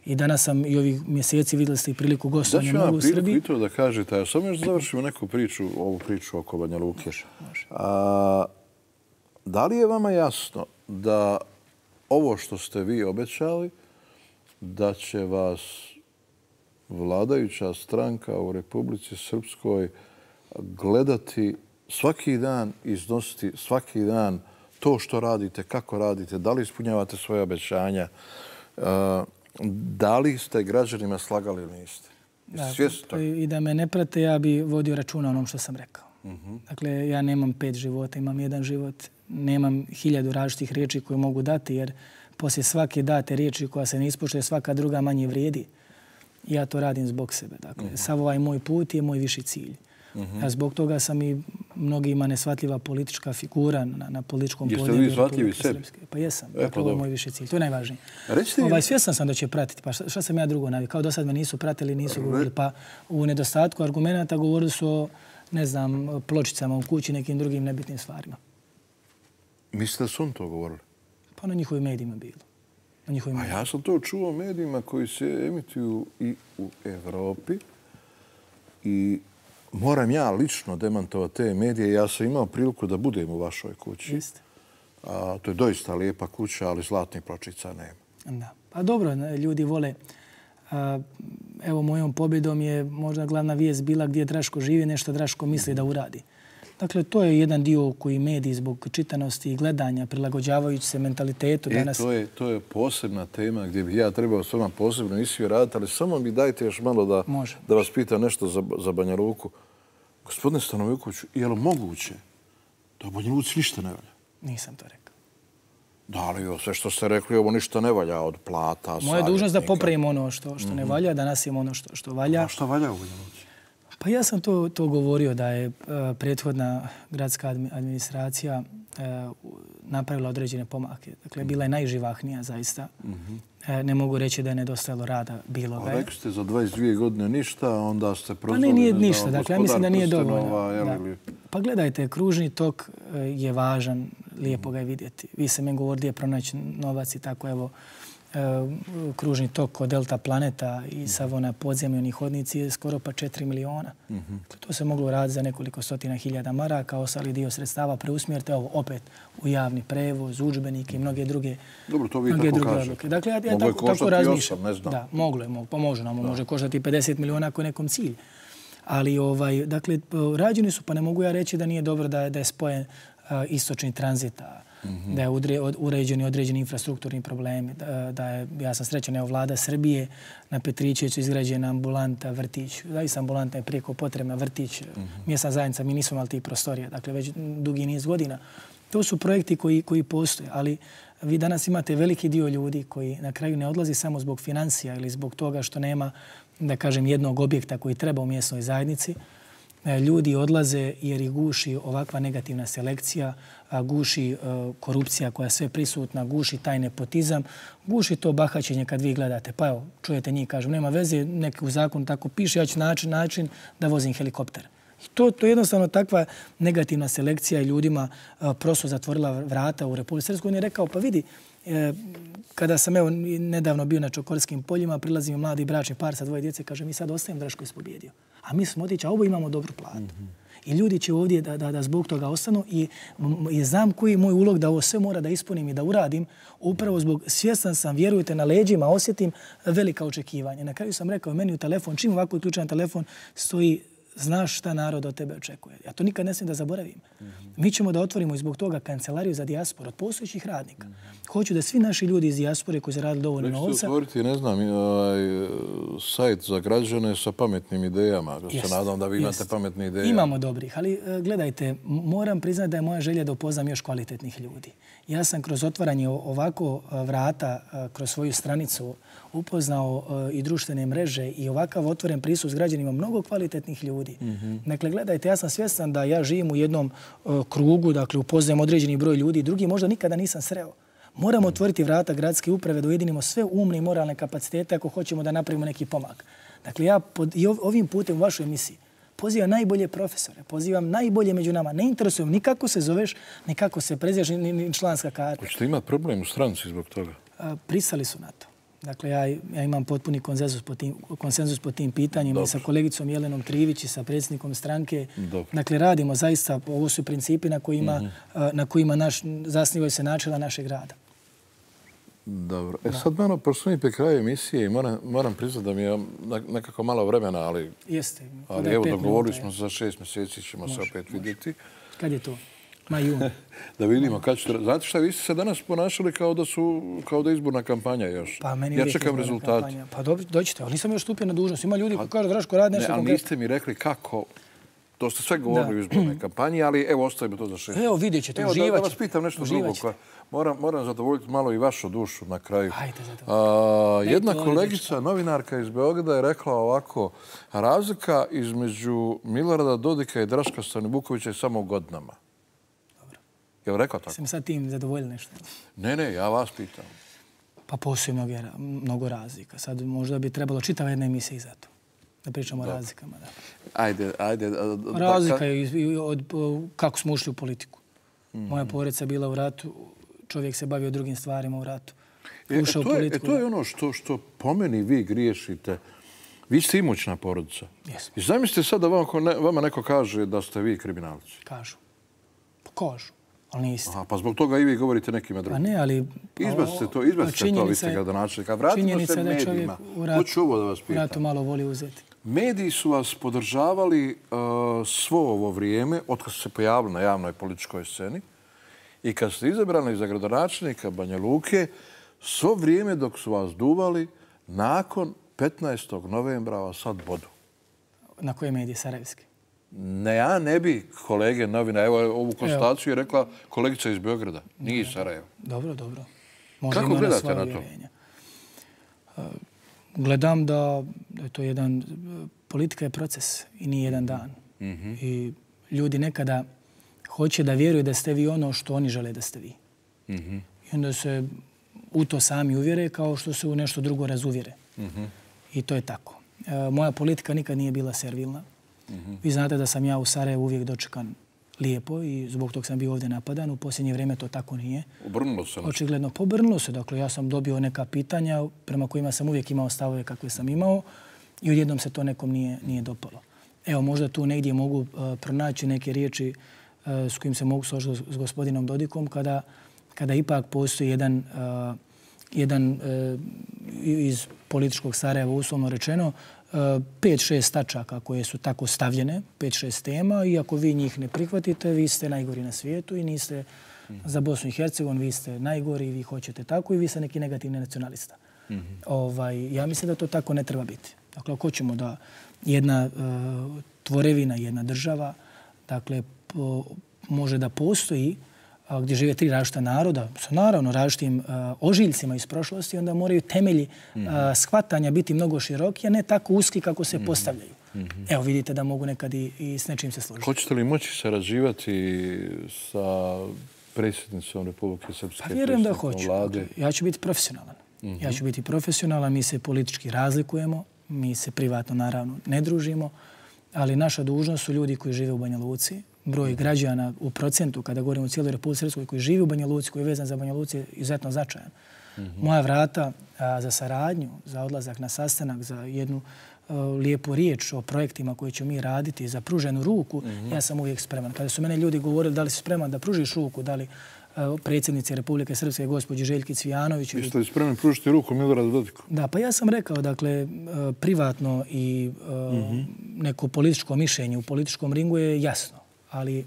Speaker 2: I danas sam i ovih mjeseci vidjeli ste i priliku gostovanja mnogo u Srbiji.
Speaker 1: Da ću ja priliku i to da kažete, a samo još završimo neku priču, ovu priču oko Banja Luke. Da li je vama jasno da ovo što ste vi obećali, da će vas vladajuća stranka u Republici Srpskoj gledati svaki dan, iznositi svaki dan to što radite, kako radite, da li ispunjavate svoje obećanja, da li ste građanima slagali ili niste?
Speaker 2: I da me ne prate, ja bi vodio računa onom što sam rekao. Dakle, ja nemam 5 života, imam 1 život. Nemam 1000 različitih riječi koje mogu dati, jer poslije svake date riječi koja se ne ispoštuje, svaka druga manje vrijedi. Ja to radim zbog sebe. Dakle, sav ovaj moj put je moj viši cilj. Zbog toga sam i mnogima nesvatljiva politička figura na političkom podneblju.
Speaker 1: Jeste li vi shvatljivi sebi?
Speaker 2: Pa jesam. Dakle, ovo je moj viši cilj. To je najvažnije. Svjestan sam da će pratiti. Pa šta sam ja drugo navikao? Kao do sad me nisu pratili, nisu govorili. Pa u nedostatku argumenta govorili su o, ne znam, pločicama u kući, nekim drugim nebitnim stvarima.
Speaker 1: Mislite da su on to govorili?
Speaker 2: Pa na njihovim medijima bilo.
Speaker 1: A ja sam to čuo medijima koji se emituju i u Evropi i moram ja lično demantovati te medije. Ja sam imao priliku da budem u vašoj kući.
Speaker 2: Jeste.
Speaker 1: To je doista lijepa kuća, ali zlatnih pločica nema.
Speaker 2: Da. Pa dobro, ljudi vole. Evo, mojom pobjedom je možda glavna vijest bila gdje Draško živi, nešto Draško misli da uradi. Dakle, to je jedan dio koji mediji zbog čitanosti i gledanja, prilagođavajući se mentalitetu danas...
Speaker 1: To je posebna tema gdje bih ja trebao s vama posebno emisiju raditi, ali samo mi dajte još malo da vas pitam nešto za Banja Luku. Gospodine Stanojeviću, je li moguće da u Banja Luci ništa ne valja?
Speaker 2: Nisam to rekao.
Speaker 1: Da li sve što ste rekli, ovo ništa ne valja od plata,
Speaker 2: moja je dužnost da popravimo ono što ne valja, da nastavimo ono što valja.
Speaker 1: A što valja u Banja Luci?
Speaker 2: Pa ja sam to govorio da je prethodna gradska administracija napravila određene pomake. Dakle, bila je najživahnija zaista. Ne mogu reći da je nedostajalo rada bilo ga je.
Speaker 1: Rekli ste za 22 godine ništa, onda ste prozvali...
Speaker 2: Pa ne, nije ništa. Dakle, ja mislim da nije dovoljno. Pa gledajte, kružni tok je važan, lijepo ga je vidjeti. Vi se meni govorili gdje je pronaći novac i tako, evo, kružni tok od Delta Planeta i Savona podzemljeni hodnici je skoro pa 4 miliona. To se moglo raditi za nekoliko stotina hiljada maraka, ostali dio sredstava preusmjerite opet u javni prevoz, udžbenike i mnoge druge odluke.
Speaker 1: Dobro, to vi tako kažete.
Speaker 2: Dakle, ja tako razmišljam. Da, moglo je, pomože nam, može koštati 50 miliona ako je nekom cilj. Ali, dakle, rađeni su, pa ne mogu ja reći da nije dobro da je spojen istočni tranzit, da je uređeni određeni infrastrukturni problemi, da je, ja sam srećan, evo vlada Srbije na Petrićeviću izgrađena ambulanta, vrtić, zaista ambulanta je prijeko potrebna, vrtić, mjesna zajednica, mi nismo imali tih prostorija, dakle već dugi niz godina. To su projekti koji postoje, ali vi danas imate veliki dio ljudi koji na kraju ne odlazi samo zbog financija ili zbog toga što nema, da kažem, jednog objekta koji treba u mjesnoj zajednici. Ljudi odlaze jer ih guši ovakva negativna selekcija, guši korupcija koja je sve prisutna, guši taj nepotizam, guši to bahaćenje kad vi gledate. Pa evo, čujete njih, kažem, nema veze, neki u zakonu tako piše, ja ću način da vozim helikopter. To je jednostavno takva negativna selekcija i ljudima prosto zatvorila vrata u Republici Srpskoj. On je rekao, pa vidi, kada sam evo nedavno bio na Čokorskim poljima, prilazi mi mladi bračni par sa 2 djece, kaže mi sad ostajem, Draško je pobjedio. A mi smo otići, a ovo imamo dobru platu. I ljudi će ovdje da zbog toga ostanu i znam koji je moj ulog da ovo sve mora da ispunim i da uradim. Upravo zbog, svjestan sam, vjerujte, na leđima osjetim velika očekivanja. Na kraju sam rekao meni u telefon, čim ovako uključen telefon, stoji znaš šta narod od tebe očekuje. Ja to nikad ne smijem da zaboravim. Mi ćemo da otvorimo i zbog toga kancelariju za dijasporu od postojećih radnika. Hoću da svi naši ljudi iz dijaspore koji zaradili dovoljno novca...
Speaker 1: Rekli ste otvoriti, ne znam, sajt za građane sa pametnim idejama. Se nadam da vi imate pametne ideje.
Speaker 2: Imamo dobrih, ali gledajte, moram priznati da je moja želja da upoznam još kvalitetnih ljudi. Ja sam kroz otvaranje ovako vrata, kroz svoju stranicu, upoznao i društvene mreže i ovakav otvoren pristup s građanima mnogo kvalitetnih ljudi. Dakle, gledajte, ja sam svjestan da ja živim u jednom krugu, dakle, upoznajem određeni broj ljudi, drugi možda nikada nisam sreo. Moramo otvoriti vrata gradske uprave da ujedinimo sve umne i moralne kapacitete ako hoćemo da napravimo neki pomak. Dakle, ja ovim putem u vašoj emisiji pozivam najbolje profesore, pozivam najbolje među nama. Ne interesujem ni kako se zoveš, ni kako se preziraš, ni članska karta.
Speaker 1: Hoćete imati problem u stranci zbog toga?
Speaker 2: Pristali su na to. Dakle, ja imam potpuni konsenzus po tim pitanjima i sa kolegicom Jelenom Trivić i sa predsjednikom stranke. Dakle, radimo zaista, ovo su principi na kojima zasnivaju se načela našeg rada.
Speaker 1: Dobro. Sad malo, pošto mi pri kraju emisije i moram priznati da mi je nekako malo vremena, ali...
Speaker 2: Jeste.
Speaker 1: Ali evo, dogovorili smo za 6 mjeseci, ćemo se opet vidjeti.
Speaker 2: Kad je to? Maj, jun.
Speaker 1: Da vidimo kad ćete... Znate šta, vi ste se danas ponašali kao da je izborna kampanja još.
Speaker 2: Pa meni
Speaker 1: ja čekam rezultate.
Speaker 2: Pa doćete, ali nisam još stupio na dužnost. Ima ljudi koji kažu, Draško, radi nešto konkretno.
Speaker 1: Ali niste mi rekli kako... To ste sve govorili u izbornoj kampanji, ali evo, ostavimo to za 6.
Speaker 2: Evo, vidjet ćete, uživat ćete.
Speaker 1: Da vas pitam nešto drugo. Moram zadovoljiti malo i vašu dušu na kraju. Jedna kolegica, novinarka iz Beograda, je rekla ovako: razlika između Milorada Dodika i Draška Stanivukovića je samo u godinama.
Speaker 2: Dobro.
Speaker 1: Je li rekao tako?
Speaker 2: Sam sad tim zadovoljili nešto?
Speaker 1: Ne, ja vas pitam.
Speaker 2: Pa postoji mnogo razlika. Sad možda bi trebalo čitava jedna emisija i za to. Da pričamo o razlikama.
Speaker 1: Ajde.
Speaker 2: Razlika je od kako smo ušli u politiku. Moja porodica je bila u ratu, čovjek se bavio drugim stvarima u ratu. Ušao u politiku.
Speaker 1: To je ono što po meni vi griješite. Vi ste imućna porodica.
Speaker 2: Jesmo.
Speaker 1: I zamislite sad da vama neko kaže da ste vi kriminalci.
Speaker 2: Kažu. Pa kažu. Ali niste.
Speaker 1: Aha, pa zbog toga i vi govorite nekima drugim.
Speaker 2: Pa ne, ali...
Speaker 1: Izbacite to, vi ste gradonačelnika. Vratimo se medijima. Hoću ovo da vas pitam.
Speaker 2: U ratu malo voli uzeti.
Speaker 1: Mediji su vas podržavali svo ovo vrijeme, otkad ste se pojavili na javnoj političkoj sceni i kad ste izabrani za gradonačelnika Banja Luke, svo vrijeme dok su vas duvali, nakon 15. novembra vas sad bodu.
Speaker 2: Na koje medije? Sarajevske?
Speaker 1: Ne, ja ne bi kolege novina. Evo, ovu konstataciju je rekla kolegica iz Beograda. Nije iz Sarajeva.
Speaker 2: Dobro.
Speaker 1: Kako gledate na to?
Speaker 2: Gledam da je to jedan... Politika je proces i nije jedan dan. I ljudi nekada hoće da vjeruju da ste vi ono što oni žele da ste vi. I onda se u to sami uvjere kao što se u nešto drugo razuvjere. I to je tako. Moja politika nikad nije bila servilna. Vi znate da sam ja u Sarajevu uvijek dočekan lijepo i zbog tog sam bio ovdje napadan. U posljednje vrijeme to tako nije.
Speaker 1: Obrnulo se.
Speaker 2: Očigledno pobrnulo se. Dakle, ja sam dobio neka pitanja prema kojima sam uvijek imao stavove kakve sam imao i odjednom se to nekom nije dopalo. Evo, možda tu negdje mogu pronaći neke riječi s kojim se mogu složiti s gospodinom Dodikom kada ipak postoji jedan iz političkog Sarajeva, uslovno rečeno, 5-6 tačaka koje su tako stavljene, 5-6 tema, i ako vi njih ne prihvatite, vi ste najgori na svijetu i niste za Bosnu i Hercegovinu, vi ste najgori i vi hoćete tako i vi ste neki negativni nacionalista. Ja mislim da to tako ne treba biti. Dakle, ako hoćemo da jedna tvorevina, jedna država, dakle, može da postoji gdje žive 3 različita naroda, sa naravno različitim ožiljcima iz prošlosti, onda moraju temelji shvatanja biti mnogo široki, a ne tako uski kako se postavljaju. Evo, vidite da mogu nekad i s nečim se složiti.
Speaker 1: Hoćete li moći sarađivati sa predsjednicom Republike Srpske?
Speaker 2: Pa vjerujem da hoću. Ja ću biti profesionalan. Ja ću biti profesionalan, mi se politički razlikujemo, mi se privatno naravno ne družimo, ali naša dužnost su ljudi koji žive u Banja Luci. Broj građana u procentu, kada govorimo o cijeloj Republici Srpskoj, koji živi u Banja Luci, koji je vezan za Banja Luci, je izuzetno značajan. Moja vrata za saradnju, za odlazak na sastanak, za jednu lijepu riječ o projektima koje ćemo mi raditi, za pruženu ruku, ja sam uvijek spreman. Kada su mene ljudi govorili da li si spreman da pružiš ruku, da li predsjednici Republike Srpske, gospođi Željki Cvijanović.
Speaker 1: Jeste li spremni pružiti ruku Miloradu Dodiku?
Speaker 2: Da, pa ja sam rekao, dakle, privatno i neko političko mišljenje u političkom ringu je jasno. Ali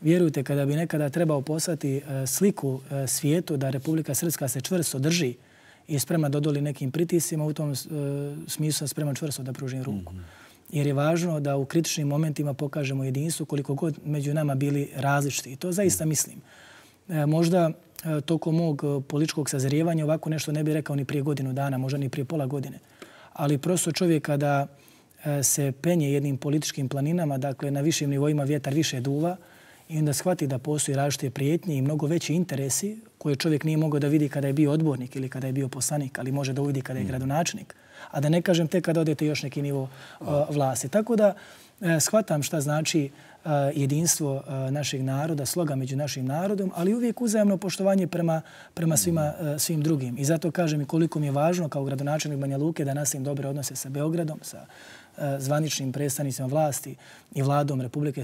Speaker 2: vjerujte, kada bi nekada trebao poslati sliku svijetu da Republika Srpska se čvrsto drži i sprema da odoli nekim pritiscima, u tom smislu sam spreman čvrsto da pružim ruku. Jer je važno da u kritičnim momentima pokažemo jedinstvo koliko god među nama bili različiti. I to zaista mislim. Možda tokom mog političkog sazrijevanja ovako nešto ne bi rekao ni prije godinu dana, možda ni prije pola godine. Ali prosto čovjek kada se penje jednim političkim planinama, dakle na višim nivoima vjetar više duva i onda shvati da postoji različite prijetnje i mnogo veći interesi koje čovjek nije mogao da vidi kada je bio odbornik ili kada je bio poslanik, ali može da uvidi kada je gradonačelnik. A da ne kažem tek kada odete još neki nivo vlasti. Tako da shvatam šta znači jedinstvo našeg naroda, sloga među našim narodom, ali uvijek uzajamno poštovanje prema svim drugim. I zato kažem i koliko mi je važno kao gradonačelnik Banja Luke da nastavim dobre odnose sa Beogradom, sa zvaničnim predstavnicima vlasti i vladom Republike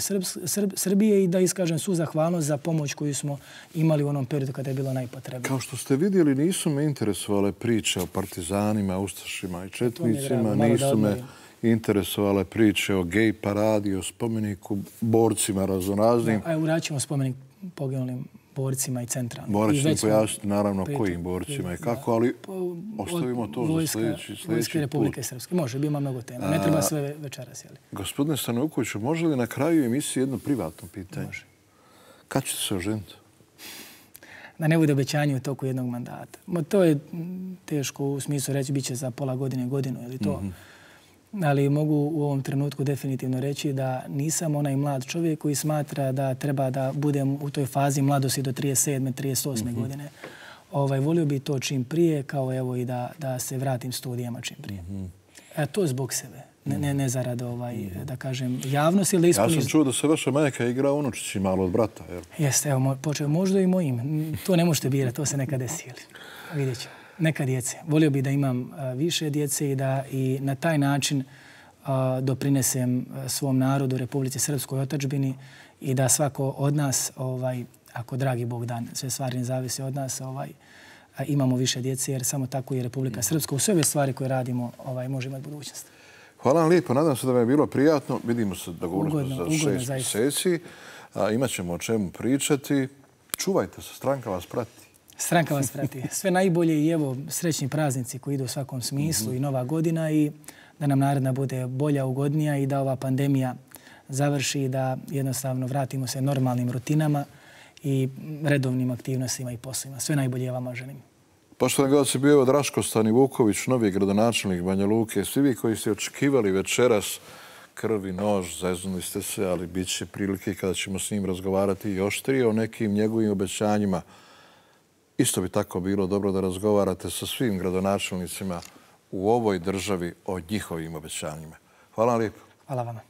Speaker 2: Srbije i da iskažem svu zahvalnost za pomoć koju smo imali u onom periodu kada je bilo najpotrebnije.
Speaker 1: Kao što ste vidjeli, nisu me interesovale priče o partizanima, ustašima i četnicima, nisu me interesovale priče o gej paradi, o spomeniku borcima raznoraznim.
Speaker 2: Uradit ćemo spomenik poginulim borcima i centralnim.
Speaker 1: Morat ćete pojasniti naravno kojim borcima i kako, ali ostavimo to za sljedeći put.
Speaker 2: Vojske Republike Srpske. Može, ima mnogo tema. Ne treba sve večeras.
Speaker 1: Gospodine Stanokoviću, može li na kraju emisije jedno privatno pitanje?
Speaker 2: Može.
Speaker 1: Kad ćete se oženiti?
Speaker 2: Da ne bude obećanje u toku jednog mandata. To je teško u smislu reći bit će za pola godine, godinu ili to. Ali mogu u ovom trenutku definitivno reći da nisam onaj mlad čovjek koji smatra da treba da budem u toj fazi mladosti do 37. 38. godine. Volio bi to čim prije, kao evo i da se vratim studijama čim prije. To zbog sebe. Ne zarad, da kažem, javnosti ili da ispunim...
Speaker 1: Ja sam čuo da se vaša majka igra unučići malo od brata, jel?
Speaker 2: Jeste, evo, počeo možda i mojim. To ne možete birati, to se nekad desili. Vidjet ćemo. Neka djece. Volio bih da imam više djece i da i na taj način doprinesem svom narodu, Republici Srpskoj, otadžbini i da svako od nas, ako dragi Bog dan, sve stvari ne zavise od nas, imamo više djece jer samo tako i Republika Srpska u sve ove stvari koje radimo može imati budućnost.
Speaker 1: Hvala vam lijepo. Nadam se da vam je bilo prijatno. Vidimo se dogovorno za 6 mjeseci. Imaćemo o čemu pričati. Čuvajte se, stranka vas prati.
Speaker 2: Stranka vas prati. Sve najbolje i evo srećni praznici koji idu u svakom smislu i nova godina i da nam naredna bude bolja, ugodnija i da ova pandemija završi i da jednostavno vratimo se normalnim rutinama i redovnim aktivnostima i poslovima. Sve najbolje vama želim.
Speaker 1: Poštovani gledalci, bio je Draško Stanivuković, novi gradonačelnik Banja Luke. Svi vi koji ste očekivali večeras krvi nož, zeznuli ste se, ali bit će prilike kada ćemo s njim razgovarati i oštrije o nekim njegovim obećanjima. Isto bi tako bilo dobro da razgovarate sa svim gradonačelnicima u ovoj državi o njihovim obećanjima. Hvala vam lijepo.
Speaker 2: Hvala vama.